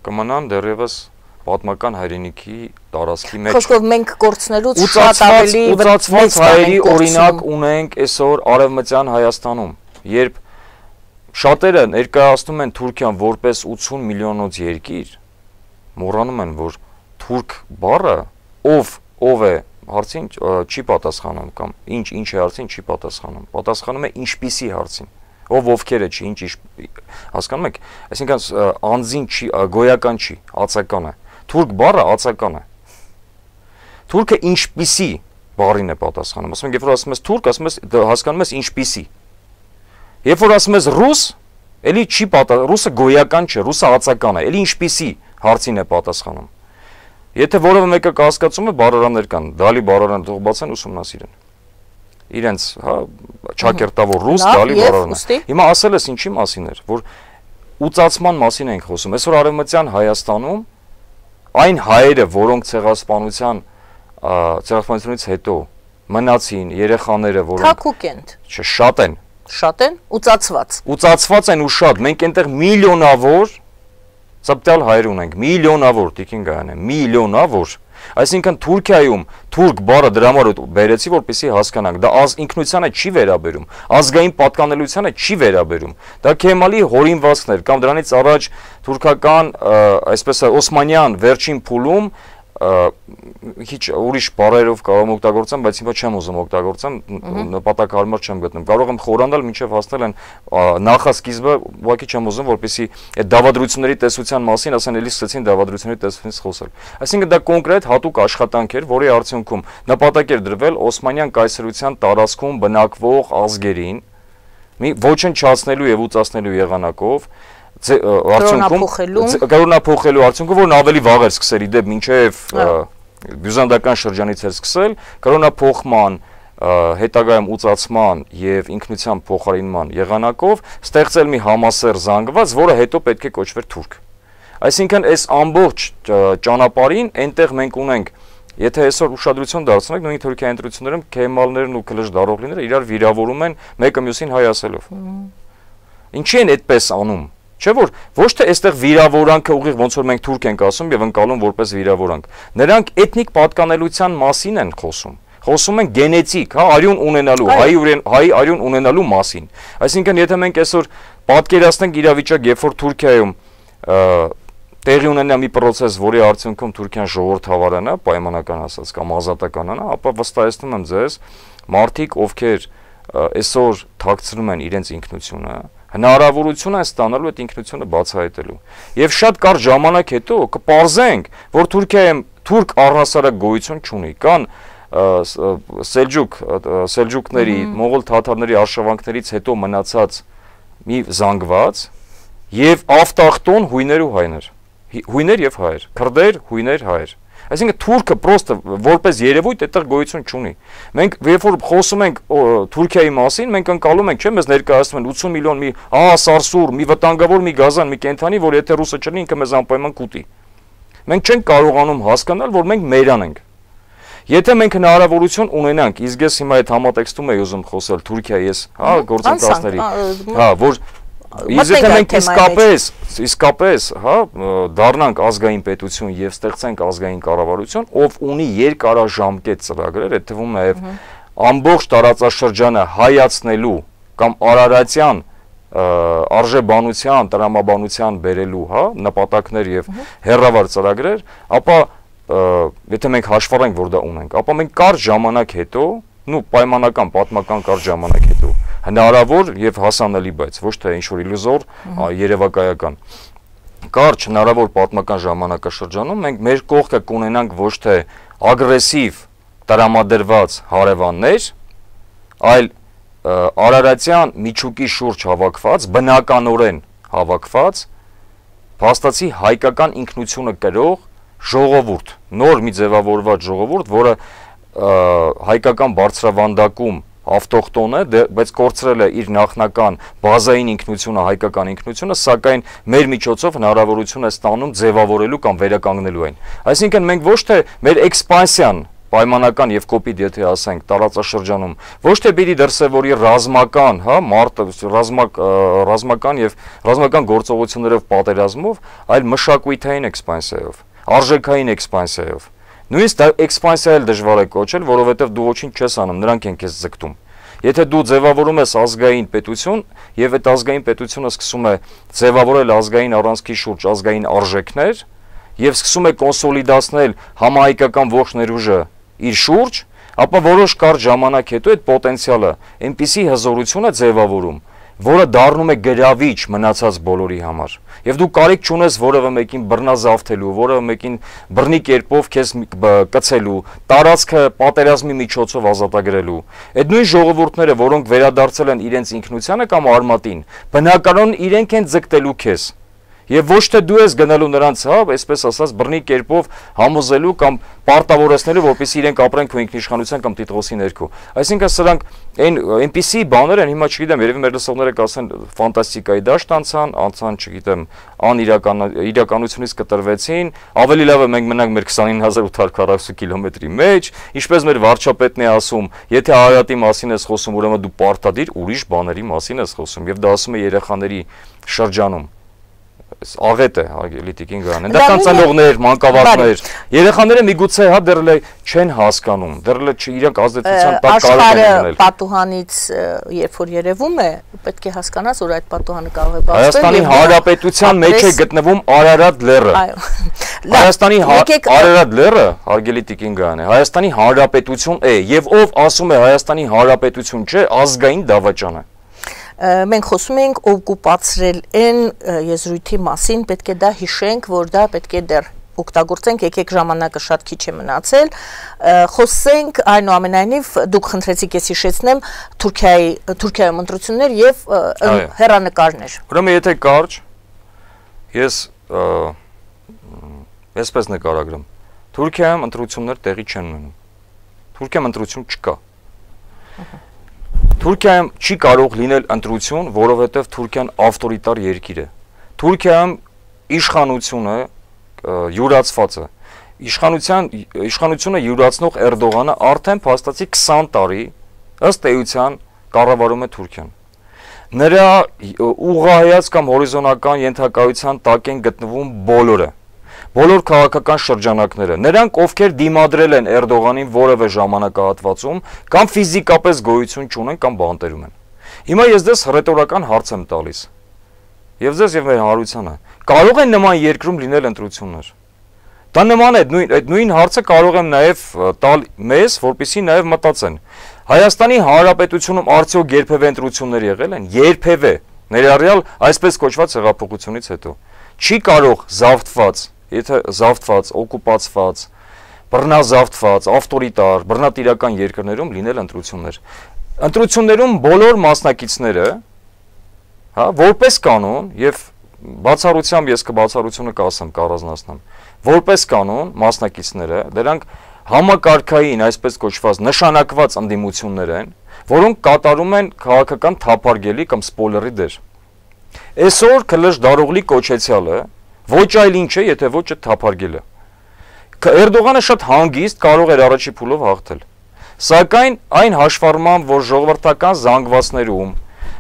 կմնան դեռևս պատմական հայրենիքի տարածքի մեջ։ Խոսքով մենք կորցնելուց շատ ավելի ուծացված հայերի օրինակ ունենք այսօր Արևմտյան Հայաստանում, երբ շատերը ներկայացնում են Թուրքիան որպես 80 միլիոնոց երկիր, մոռանում են, որ թուրք բառը ով է հարցին չի պատասխանում կամ ինչ է հարցին չի պատասխանում, պատասխանում է ինչպիսի հարցին։ Ովքեր է չի, ինչ հասկանում եք, այսինքն անձին չի, գոյական չի, ածական է։ Թուրք բառը ածական է։ Թուրքը ինչպիսի բառին է պատասխանում։ Ասում ենք, երբ որ ասում ես թուրք, ասում ես հասկանում ես ինչպիսի։ Երբ որ ասում ես ռուս, էլի չի պատասխանում, ռուսը գոյական չէ, ռուսը ածական է, էլի ինչպիսի հարցին է պատասխանում։ Եթե որևէ մեկը կասկածում է, բառարաններ կան, դալի բառարան թող բացեն ուսումնասիրեն։ Իրենց, հա, ճակերտավոր ռուս դալի բառարանը։ Հիմա ասել ես ինչի մասին էր, որ ուծացման մասին ենք խոսում։ Այսօր Արևմտյան Հայաստանում այն հայերը, որոնք ցեղասպանությունից հետո մնացին, երեխաները, որոնք Թակուկենտ։ Չէ, շատ են։ Շատ են, ուծացված։ Ուծացված են ու շատ։ Մենք այնտեղ միլիոնավոր ծպտյալ հայեր ունենք, միլիոնավոր, Տիկին Գայանե, միլիոնավոր։ Այսինքն Թուրքիայում թուրք բառը դրա համար բերեցի, որպեսզի հասկանանք, դա ինքնությանը չի վերաբերում, ազգային պատկանելությանը չի վերաբերում։ Դա Քեմալի հորինվածքներ կամ դրանից առաջ թուրքական, այսպես Օսմանյան վերջին փուլում Քիչ ուրիշ բառերով կարող եմ օգտագործեմ, բայց հիմա չեմ ուզում օգտագործեմ, նպատակահարմար չեմ գտնում։ Կարող եմ խորանալ մինչև հասնել են նախասկիզբը, ուղղակի չեմ ուզում, որպեսզի այդ դավադրությունների տեսության մասին, ասեն էլի սկսեցին դավադրությունների տեսությունից խոսել։ Այսինքն դա կոնկրետ հատուկ աշխատանք էր, որի արդյունքում նպատակ էր դրվել Օսմանյան կայսրության տարածքում բնակվող ազգերին մի ոչնչացնելու եւ ուծացնելու եղանակով կրոնափոխելու արդյունքում, որն ավելի վաղ էր սկսել իդեպ մինչև բյուզանդական շրջանից էր սկսել, կրոնափոխման, հետագայում ուծացման եւ ինքնության փոխարինման եղանակով ստեղծել մի համասեռ զանգված, որը հետո պետք է կոչվեր թուրք։ Այսինքն այս ամբողջ ճանապարհին այնտեղ մենք ունենք, եթե այսօր ուշադրություն դարձնենք, նույն Թուրքիայի ընտրություններում քեմալներն ու քլժդարօղլիները իրար վիրավորում են մեկը մյուսին հայ ասելով։ Ինչի են այդպես անում։ Չէ՞ որ ոչ թե այստեղ վիրավորանքը ուղիղ ոնց որ մենք թուրք ենք ասում եւ ընկալում որպես վիրավորանք։ Նրանք էթնիկ պատկանելության մասին են խոսում։ Խոսում են գենետիկ, հա, արյուն ունենալու, հայ արյուն ունենալու մասին։ Այսինքն եթե մենք այսօր պատկերացնենք իրավիճակ, երբ որ Թուրքիայում տեղի ունենա մի process, որի արդյունքում Թուրքիան ժողովրդավարանա, պայմանական ասած կամ ազատականանա, ապա վստահեցնում եմ ձեզ, մարդիկ, ովքեր այսօր թաքցնում են իրենց ինքնությունը, հնարավորություն են ստանալու այդ ինքնությունը բացահայտելու։ Եվ շատ կարճ ժամանակ հետո կպարզենք, որ Թուրքիայում թուրք առհասարակ գոյություն չունի, կան սելջուկների, մողոլ թաթարների արշավանքներից հետո մնացած մի զանգված եւ ավտախտոն հույներ ու հայներ։ Հույներ եւ հայեր, քրդեր, հույներ, հայեր։ Այսինքն թուրքը պրոստը որպես երևույթ այդտեղ գոյություն չունի։ Մենք երբ որ խոսում ենք Թուրքիայի մասին, մենք ընկալում ենք, չէ՞, մեզ ներկայացնում են 80 միլիոն մի սարսուռ, մի վտանգավոր մի գազան, մի կենթանի, որ եթե ռուսը չլինի, ինքը մեզ անպայման կուտի։ Մենք չենք կարողանում հասկանալ, որ մենք մերան ենք։ Եթե մենք հնարավորություն ունենանք, իսկ ես հիմա այդ համատեքստում եմ ուզում խոսել Թուրքիայի, հա, գործընկերների, հա, որ Եթե մենք իսկապես, հա, դառնանք ազգային պետություն եւ ստեղծենք ազգային կառավարություն, ով ունի երկարաժամկետ ծրագրեր, այդ թվում նաեւ ամբողջ տարածաշրջանը հայացնելու կամ արարատյան արժեբանության, տրամաբանության բերելու, հա, նպատակներ եւ հերրավար ծրագրեր, ապա եթե մենք հաշվառենք, որ դա ունենք, ապա մենք կարճ ժամանակ հետո, պայմանական, պատմական կարճ ժամանակ հետո հնարավոր եւ հասանելի, բայց ոչ թե ինչ-որ իլյուզոր, երևակայական։ Կարճ հնարավոր պատմական ժամանակաշրջանում մենք մեր կողքը կունենանք ոչ թե ագրեսիվ տրամադրված հարևաններ, այլ արարատյան միջուկի շուրջ հավաքված, բնականորեն հավաքված, փաստացի հայկական ինքնությունը կրող ժողովուրդ, նոր մի ձևավորված ժողովուրդ, որը հայկական բարձրավանդակում ավտոխտոն է, բայց կորցրել է իր նախնական բազային ինքնությունը, հայկական ինքնությունը, սակայն մեր միջոցով հնարավորություն է ստանում ձևավորելու կամ վերականգնելու այն։ Այսինքն մենք ոչ թե մեր էքսպանսիան պայմանական եւ կոպիտ, եթե ասենք, տարածաշրջանում, ոչ թե պիտի դրսևորի ռազմական, հա, ռազմական եւ ռազմական գործողություններով պատերազմով, այլ մշակութային էքսպանսիայով, արժեքային էքսպանսիայով։ Նույնիսկ դա էքսպանսիա էլ դժվար է կոչել, որովհետև դու ոչինչ չես անում, նրանք են քեզ ձգտում։ Եթե դու ձևավորում ես ազգային պետություն եւ այդ ազգային պետությունը սկսում է ձևավորել ազգային առանցքի շուրջ ազգային արժեքներ եւ սկսում է կոնսոլիդացնել համահայկական ողջ ներուժը իր շուրջ, ապա որոշ կարճ ժամանակ հետո այդ պոտենցիալը այնպիսի հզորություն է ձևավորում, որը դառնում է գրավիչ մնացած բոլորի համար։ Եվ դու կարիք չունես որևէ մեկին բռնազավթելու, որևէ մեկին բռնի կերպով քեզ կցելու, տարածքը պատերազմի միջոցով ազատագրելու։ Այդ նույն ժողովուրդները, որոնք վերադարձել են իրենց ինքնությանը կամ արմատին, բնականon իրենք են ձգտելու քեզ։ Եվ ոչ թե դու ես գնալու նրանց, հա, այսպես ասած, բռնի կերպով համոզելու կամ պարտավորեցնելու, որպեսզի իրենք ապրեն քո ինքնիշխանության կամ տիտղոսի ներքո։ Այսինքն սրանք այնպիսի բաներ են, հիմա չգիտեմ, երևի մեր լսողները կասեն ֆանտաստիկայի դաշտ անցան, չգիտեմ, իրականությունից կտրվեցին, ավելի լավ է մենք մնանք մեր 29840 կիլոմետրի մեջ, ինչպես մեր վարչապետն է ասում, եթե Արարատի մասին ես խոսում, ուրեմն դու պարտադիր ուրիշ բաների մասին ես խոսում, եւ դա ասում է երեխաների շրջանում։ Աղետ է, հարգելի Տիկին Գայանեն, դա կան ծնողներ, մանկավարժներ, երեխաները միգուցե հա դեռ չեն հասկանում, դեռ իրենք ազդեցության տակ կարող են լինել։ Աշխարհը պատուհանից երբ որ երևում է, պետք է հասկանաս, որ այդ պատուհանը կարող է բացվել։ Հայաստանի Հանրապետության մեջ է գտնվում Արարատ լեռը։ Այո։ Հայաստանի Արարատ լեռը, հարգելի Տիկին Գայան է, Հայաստանի Հանրապետություն է, եւ ով ասում է Հայաստանի Հանրապետություն չէ, ազգային դավաճան է։ Մենք խոսում ենք օկուպացրել են եզրույթի մասին, պետք է դա հիշենք, որ դա պետք է դեռ օգտագործենք, եկեք ժամանակը շատ քիչ է մնացել, խոսենք այնուամենայնիվ դուք խնդրեցիք ես հիշեցնեմ Թուրքիայում ընտրություններ եւ հեռանկարներ։ Ուրեմն եթե կարճ ես այսպես նկարագրեմ, Թուրքիայում ընտրություններ տեղի չեն ունենում։ Թուրքիայում ընտրություն չկա։ Թուրքիայում չի կարող լինել ընտրություն, որովհետև Թուրքիան ավտորիտար երկիր է։ Թուրքիայում իշխանությունը յուրացված է։ Իշխանությունը յուրացնող Էրդողանը արդեն փաստացի 20 տարի ըստ էության կառավարում է Թուրքիան։ Նրա ուղղահայաց կամ հորիզոնական ենթակայության տակ են գտնվում բոլոր քաղաքական շրջանակները, նրանք ովքեր դիմադրել են Էրդողանին որևէ ժամանակահատվածում կամ ֆիզիկապես գոյություն չունեն կամ բանտերում են։ Հիմա ես դες ռետորական հարց եմ տալիս։ Եվ ձեզ եւ մեր հանրությանը, կարող են նման երկրում լինել ընտրություններ։ Դա նման է, այդ նույն հարցը կարող եմ նաեւ տալ մեզ, որպեսզի նաեւ մտածեն։ Հայաստանի Հանրապետությունում արդյոք երբևէ ընտրություններ եղել են։ Երբևէ, ներառյալ այսպես կոչված հեղափոխությունից հետո։ Չի կարող զավթված, եթե զավթված, օկուպացված, բռնազավթված, ավտորիտար, բռնատիրական երկրներում լինել ընտրություններ։ Ընտրություններում բոլոր մասնակիցները, հա, որպես կանոն եւ բացառությամբ ես կբացառությունը կասեմ, կառանձնացնեմ, որպես կանոն մասնակիցները, դրանք համակարգային, այսպես կոչված նշանակված ընդդիմություններ են, որոնք կատարում են քաղաքական թափարգելի կամ սպոյլերի դեր։ Այսօր Քլշ Դարօղլի կոչեցյալը ոչ այլ ինչ է, եթե ոչ այդ թափարգելը։ Էրդողանը շատ հանգիստ կարող էր առաջի փուլով հաղթել։ Սակայն այն հաշվառմամբ, որ ժողովրդական զանգվածներում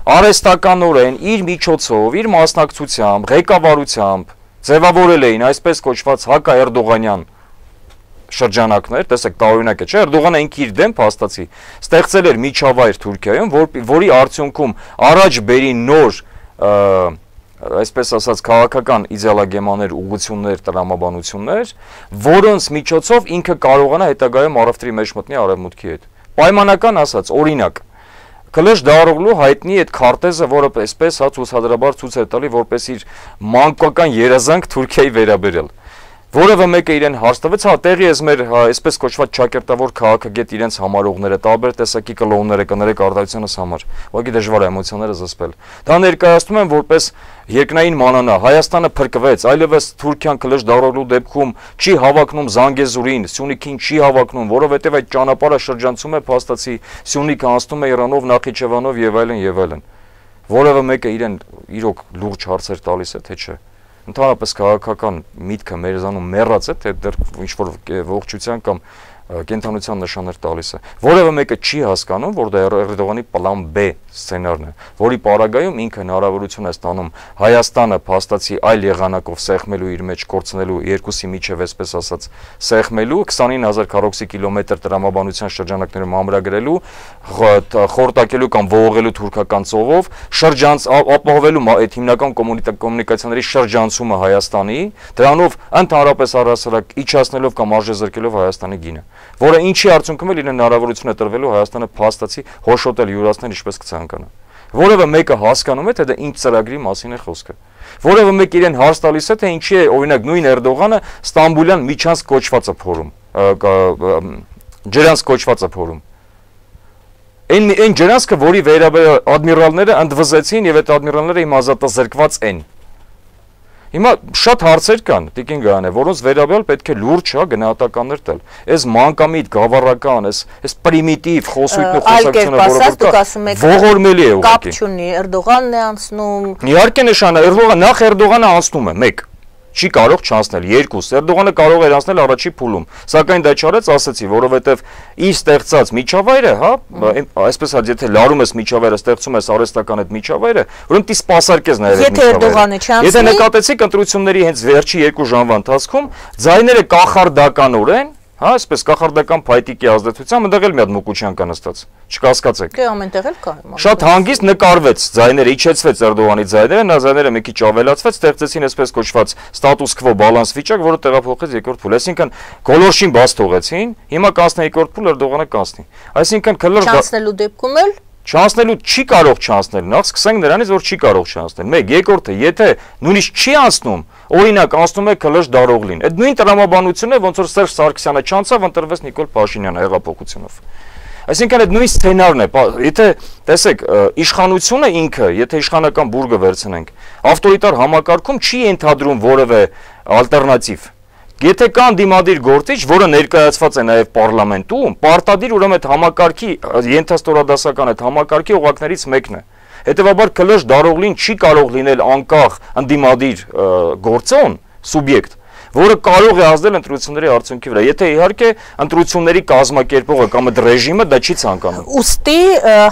արհեստականորեն իր միջոցով, իր մասնակցությամբ, ղեկավարությամբ ձևավորել էին այսպես կոչված հակաէրդողանյան շրջանակներ, տեսեք, տարօրինակ է, չէ՞, Էրդողանը ինքը իր դեմ փաստացի ստեղծել էր միջավայր Թուրքիայում, որի արդյունքում առաջ բերի նոր այսպես ասած քաղաքական իդեալոգեմաներ, ուղղություններ, տրամաբանություններ, որոնց միջոցով ինքը կարողանա հետագայում առևտրի մեջ մտնի արևմուտքի հետ։ Պայմանական ասած, օրինակ, Քլշ Դարօղլու հայտնի այդ քարտեզը, որը այսպես հա ցուցադրաբար ցույց է տալի, որպես իր մանկական երազանք Թուրքիայի վերաբերել։ Որևէ մեկը իրեն հարց տվեց, հա տեղի ես մեր այսպես կոչված ճակերտավոր քաղաքագետ իրենց համարողները, տարբեր տեսակի կլոնները կներեք արտադրությունս համար։ Ուղղակի դժվար է էմոցիաները զսպել։ Դա ներկայացնում են որպես երկնային մանանա, Հայաստանը փրկվեց, այլևս Թուրքիան Քլշ Դարօղլու դեպքում չի հավակնում Զանգեզուրին, Սյունիքին չի հավակնում, որովհետև այդ ճանապարհը շրջանցում է փաստացի Սյունիքը անցնում է Իրանով, Նախիջևանով եւ այլն եւ այլն։ Որևէ մեկը իրեն իրոք լուրջ հարցեր տալիս է, թե չէ։ Ընդհանրապես քաղաքական միտքը մեզանում մեռած է, թե դեռ ինչ-որ ողջության կամ կենթանության նշաններ տալիս է։ Որևէ մեկը չի հասկանում, որ դա Էրդողանի պլան B սցենարն է, որի պարագայում ինքը հնարավորություն է ստանում Հայաստանը փաստացի այլ եղանակով սեղմելու իր մեջ կորցնելու երկուսի միջև, այսպես ասած, սեղմելու 29000 քառակուսի կիլոմետր տրամաբանության շրջանակներում ամրագրելու, խորտակելու կամ ողողելու թուրքական ծովով, ապահովելու այդ հիմնական կոմունիկացիաների շրջանցումը Հայաստանի, դրանով ընդհանրապես առհասարակ իջացնելով կամ արժեզրկելով Հայաստանի գինը, որը ինչի արդյունքում էլ իրեն հնարավորություն է տրվելու Հայաստանը փաստացի հոշոտել, յուրացնել ինչպես կցանկանա։ Որևէ մեկը հասկանում է, թե դա ինչ ծրագրի մասին է խոսքը։ Որևէ մեկը իրեն հարց տալիս է, թե ինչի է օրինակ նույն Էրդողանը Ստամբուլյան միջանց կոչվածը փորում, ջրանց կոչվածը փորում։ Այն ջրանցքը, որի վերաբերյալ ադմիրալները ընդվզեցին եւ այդ ադմիրալները իմ ազատազրկված են։ Հիմա շատ հարցեր կան, Տիկին Գայան է, որոնց վերաբերյալ պետք է լուրջ գնահատականներ տալ։ Այս մանկամիտ, գավառական, այս պրիմիտիվ խոսույթն ու խոսակցությունը, որը ողորմելի է ուղղակի։ Կապ չունի, Էրդողանն է անցնում։ Իհարկե նշանը, նախ Էրդողանը անցնում է, 1 չի կարող չանցնել, 2 Էրդողանը կարող էր անցնել առաջի փուլում, սակայն դա չարեց, ասացի, որովհետև իր ստեղծած միջավայրը, հա, այսպես ասած, եթե լարում ես միջավայրը, ստեղծում ես արհեստական այդ միջավայրը, ուրեմն դի սպասարկես նաև այդ միջավայրը։ Եթե նկատեցիք ընտրությունների հենց վերջի 2 ժամվա ընթացքում, ձայները կախարդականորեն Հա, այսպես կախարդական փայտիկի ազդեցությամբ այնտեղ էլ մի հատ Մուկուչյան կա նստած։ Չկասկածեք։ Դե ամենտեղ էլ կա։ Շատ հանգիստ նկարվեց, ձայները իջեցվեց Էրդողանի ձայները, նա ձայները մի քիչ ավելացվեց, ստեղծեցին այսպես կոչված status quo balance վիճակ, որը տեղափոխեց երկրորդ փուլ։ Այսինքն գոլորշին բաց թողեցին, հիմա կանցնի երկրորդ փուլ, Էրդողանը կանցնի։ Այսինքն քլոր չանցնելու դեպքում էլ չանցնելու չի կարող չանցնել, նախ սկսենք նրանից, որ չի կարող չանցնել։ Մեկ, երկրորդը, եթե նույնիսկ չի անցնում, օրինակ անցնում է Քլոշ Դարօղլին, այդ նույն տրամաբանությունն է, ոնց որ Սերժ Սարգսյանը չանցավ, ընտրվեց Նիկոլ Փաշինյանը հեղափոխությունով։ Այսինքն այդ նույն սցենարն է, եթե տեսեք, իշխանությունը ինքը, եթե իշխանական բուրգը վերցնենք, ավտորիտար համակարգում չի ենթադրում որևէ ալտերնատիվ։ Եթե կան դիմադիր գործիչ, որը ներկայացված է նաև պարլամենտում, պարտադիր ուրեմն այդ համակարգի ենթաստորադասական այդ համակարգի օղակներից մեկն է։ Հետևաբար Քլոշ Դարօղլին չի կարող լինել անկախ ընդդիմադիր գործոն, սուբյեկտ, որը կարող է ազդել ընտրությունների արդյունքի վրա։ Եթե իհարկե ընտրությունների կազմակերպողը կամ այդ ռեժիմը դա չի ցանկանում։ Ուստի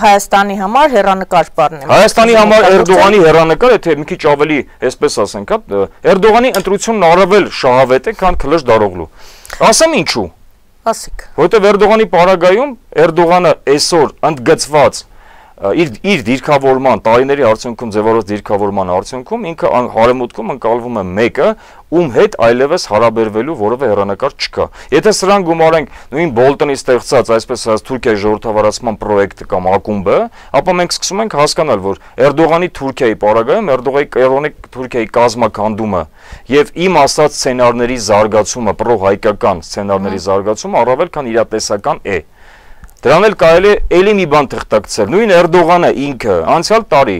Հայաստանի համար հեռանկար բառն է։ Հայաստանի համար Էրդողանի հեռանկար, եթե մի քիչ ավելի, այսպես ասենք, հա, Էրդողանի ընտրությունն առավել շահավետ է, քան Քլոշ Դարօղլու։ Ասեմ ինչու։ Ասեք։ Որովհետև Էրդողանի պարագայում Էրդողանը այսօր ընդգծված իր դիրքավորման, տարիների արդյունքում ձևավորած դիրքավորման արդյունքում ինքը հարեմուտքում ընկալվում է մեկը, ում հետ այլևս հարաբերվելու որևէ հեռանկար չկա։ Եթե սրան գումարենք նույն Բոլտոնի ստեղծած, այսպես ասած, Թուրքիայի ժողովրդավարացման պրոյեկտը կամ ակումբը, ապա մենք սկսում ենք հասկանալ, որ Էրդողանի Թուրքիայի պարագայում Էրդողանի Թուրքիայի կազմակերպումը եւ իմ ասած սցենարների զարգացումը, պրոհայկական սցենարների զարգացումը առավել քան իրատեսական է։ Դրան էլ կարելի է էլի մի բան թղթակցել։ Նույն Էրդողանը ինքը անցյալ տարի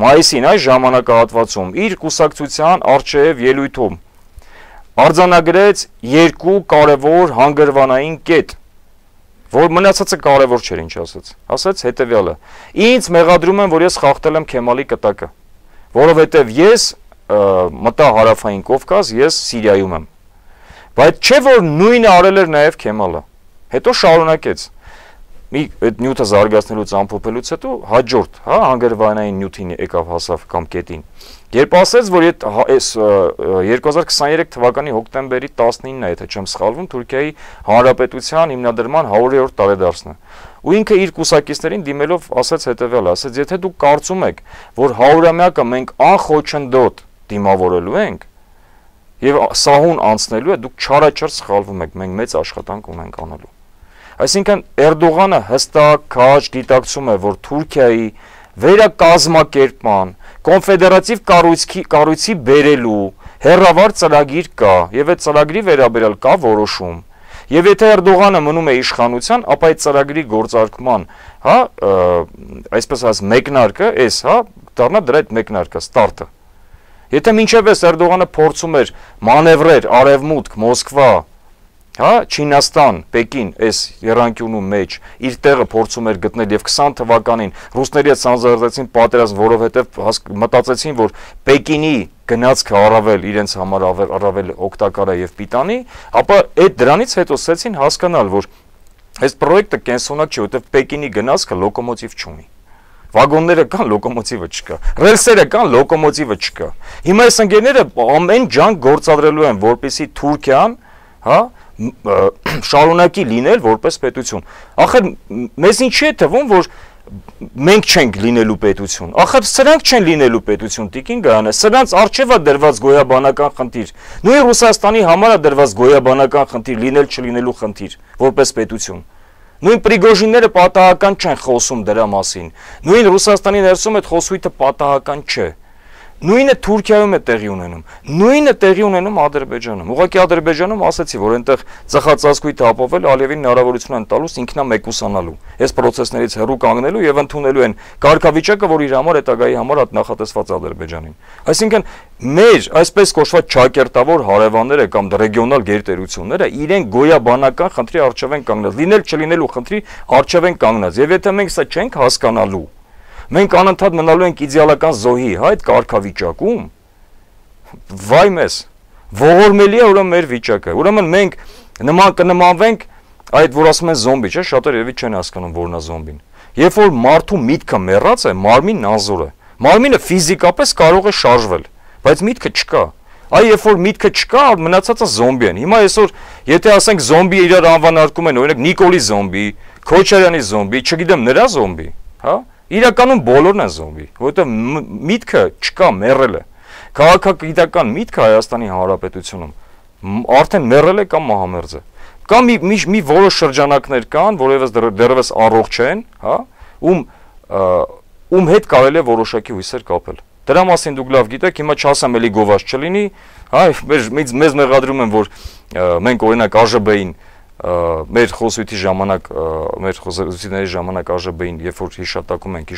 մայիսին այս ժամանակահատվածում իր կուսակցության արչեև ելույթում արձանագրեց երկու կարևոր հանգրվանային կետ, որ մնացածը կարևոր չէր, ինչ ասաց։ Ասաց հետևյալը. ինձ մեղադրում են, որ ես խախտել եմ Քեմալի կտակը, որովհետև ես մտա հարավային Կովկաս, ես Սիրիայում եմ։ Բայց չէ որ նույնը արել էր նաև Քեմալը։ Հետո շարունակեց այդ նյութը զարգացնելուց ամփոփելուց հետո հաջորդ, հա, հանգրվանային նյութին եկավ հասավ կամ կետին։ Երբ ասեց, որ այս 2023 թվականի հոկտեմբերի 19-ն է, եթե չեմ սխալվում, Թուրքիայի Հանրապետության հիմնադրման 100-րդ տարեդարձն է։ Ու ինքը իր կուսակիցներին դիմելով ասաց հետևյալը, ասաց, եթե դուք կարծում եք, որ 100-ամյակը մենք անխոչնդոտ դիմավորելու ենք եւ սահուն անցնելու է, դուք չարաչար սխալվում եք, մենք մեծ աշխատանք ունենք անելու։ Այսինքն Էրդողանը հստակ քաջ գիտակցում է, որ Թուրքիայի վերակազմակերպման, կոնֆեդերատիվ կառույցի բերելու հերավար ծրագիր կա, եւ այդ ծրագրի վերաբերյալ կա որոշում։ Եվ եթե Էրդողանը մնում է իշխանության, ապա այդ ծրագրի գործարկման, հա, այսպես ասած, մեկնարկը, հա, դառնա դրա այդ մեկնարկը, ստարտը։ Եթե մինչև այս Էրդողանը փորձում էր մանևրեր արևմուտք, Մոսկվա, հա, Չինաստան, Պեկին, այս երանկյունու մեջ իր տեղը փորձում էր գտնել եւ 20 թվականին ռուսների հետ սանձազերծեցին պատերազմ, որովհետեւ մտածեցին, որ Պեկինի գնացքը առավել իրենց համար առավել օգտակար է եւ պիտանի, ապա այդ դրանից հետո սկսեցին հասկանալ, որ այս պրոյեկտը կենսունակ չէ, որովհետեւ Պեկինի գնացքը լոկոմոտիվ չունի։ Վագոնները կան, լոկոմոտիվը չկա։ Ռելսերը կան, լոկոմոտիվը չկա։ Հիմա այս ընկերները ամեն ջանք գործադրելու են, որպեսզի Թուրքիան, հա, շարունակի լինել որպես պետություն։ Ախր մեզ ինչի է թվում, որ մենք չենք լինելու պետություն։ Ախր սրանք չեն լինելու պետություն, Տիկին Գայանե, սրանց արժևա դրված գոյաբանական խնդիր։ Նույն Ռուսաստանի համար է դրված գոյաբանական խնդիր, լինել չլինելու խնդիր, որպես պետություն։ Նույն Պրիգոժինները պատահական չեն խոսում դրա մասին։ Նույն Ռուսաստանի ներսում այդ խոսույթը պատահական չէ։ Նույնը Թուրքիայում է տեղի ունենում, նույնը տեղի ունենում Ադրբեջանում։ Ուղղակի Ադրբեջանում ասացի, որ այնտեղ ծխածածկույթը ապավել Ալիևին հնարավորություն են տալուց ինքնամեկուսանալու, այս process-ներից հեռու կանգնելու եւ ընդունելու են կարգավիճակը, որ իր համար հետագայի համար նախատեսված Ադրբեջանին։ Այսինքն մեր այսպես կոչված ճակերտավոր հարևանները կամ ռեգիոնալ գերտերությունները իրեն գոյաբանական խնդրի առջև են կանգնած, լինել չլինելու խնդրի առջև են կանգնած։ Եվ եթե մենք սա չենք հասկանալու, մենք անընդհատ մնալու ենք իդեալական զոհի, հա, այդ կարգավիճակում, վայ մեզ, ողորմելի է ուրեմն մեր վիճակը, ուրեմն մենք կնմանվենք այդ, որ ասում են զոմբի, չէ, շատերը երևի չեն հասկանում որն է զոմբին։ Երբ որ մարդու միտքը մեռած է, մարմինն անզոր է, մարմինը ֆիզիկապես կարող է շարժվել, բայց միտքը չկա, Այ երբ որ միտքը չկա, մնացածը զոմբի են։ Հիմա այսօր, եթե ասենք զոմբի իրար անվանարկում են, օրինակ Նիկոլի զոմբի, Քոչարյանի զոմբի, չգիտեմ նրա զոմբի, հա? Իրականում բոլորն են զոմբի, որովհետև միտքը չկա, մեռել է։ Քաղաքագիտական միտքը Հայաստանի Հանրապետությունում արդեն մեռել է կամ մահամերձ է։ Կամ մի որոշ շրջանակներ կան, որևէ դեռևս առողջ են, հա, ում հետ կարելի է որոշակի հույսեր կապել։ Դրա մասին դուք լավ գիտեք, հիմա չասեմ էլի գովազ չլինի, հա, մեզ մեղադրում են, որ մենք օրինակ ԱԺԲ-ին մեր խոսույթի ժամանակ, մեր խոսությունների ժամանակ ԱԺԲ-ին, երբ որ հիշատակում ենք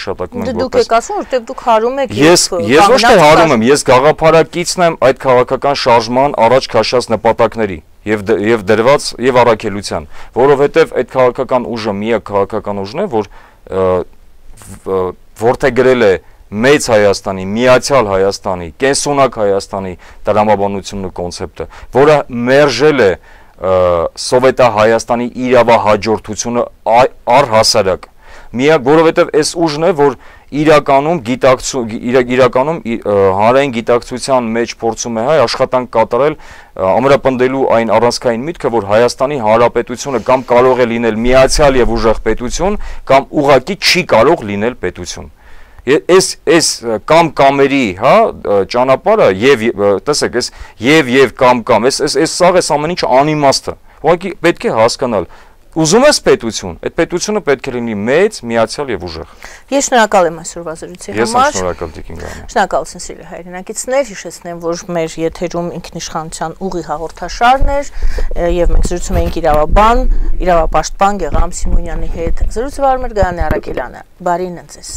Դուք եք ասում, որտեղ դուք հարում եք Ես ոչ թե հարում եմ, ես գաղափարակիցն եմ այդ քաղաքական շարժման առաջ քաշած նպատակների եւ դրված եւ առաքելության, որովհետեւ այդ քաղաքական ուժը միակ քաղաքական ուժն է, որ որդեգրել է Մեծ Հայաստանի, Միացյալ Հայաստանի, կենսունակ Հայաստանի տրամաբանությունն ու կոնցեպտը, որը մերժել է Սովետահայաստանի իրավահաջորդությունը առհասարակ։ Միակ, որովհետև այս ուժն է, որ իրականում հանրային գիտակցության մեջ փորձում է աշխատանք կատարել, ամրապնդելու այն առանցքային միտքը, որ Հայաստանի Հանրապետությունը կամ կարող է լինել միացյալ եւ ուժեղ պետություն, կամ ուղղակի չի կարող լինել պետություն։ Այս կամ-կամերի, հա, ճանապարհը եւ տեսեք, այս եւ կամ-կամ, այս սաղ էս ամեն ինչը անիմաստ է։ Ուղղակի պետք է հասկանալ։ Ուզում ես պետություն, այդ պետությունը պետք է լինի մեծ, միացյալ եւ ուժեղ։ Ես շնորհակալ եմ այսօրվա զրույցի համար։ Ես շնորհակալ Տիկին Գարնան։ Շնորհակալություն սիրելի հայրենակիցներ, հիշեցնեմ, որ մեր եթերում ինքնիշխանության ուղի հաղորդաշարն էր եւ մենք զրուցում էինք իրավապաշտպան Գեգամ Սիմոնյանի հետ։ Զրույցը վարում էր Գայանե Արաքելյանը։ Բարին ընձեզ։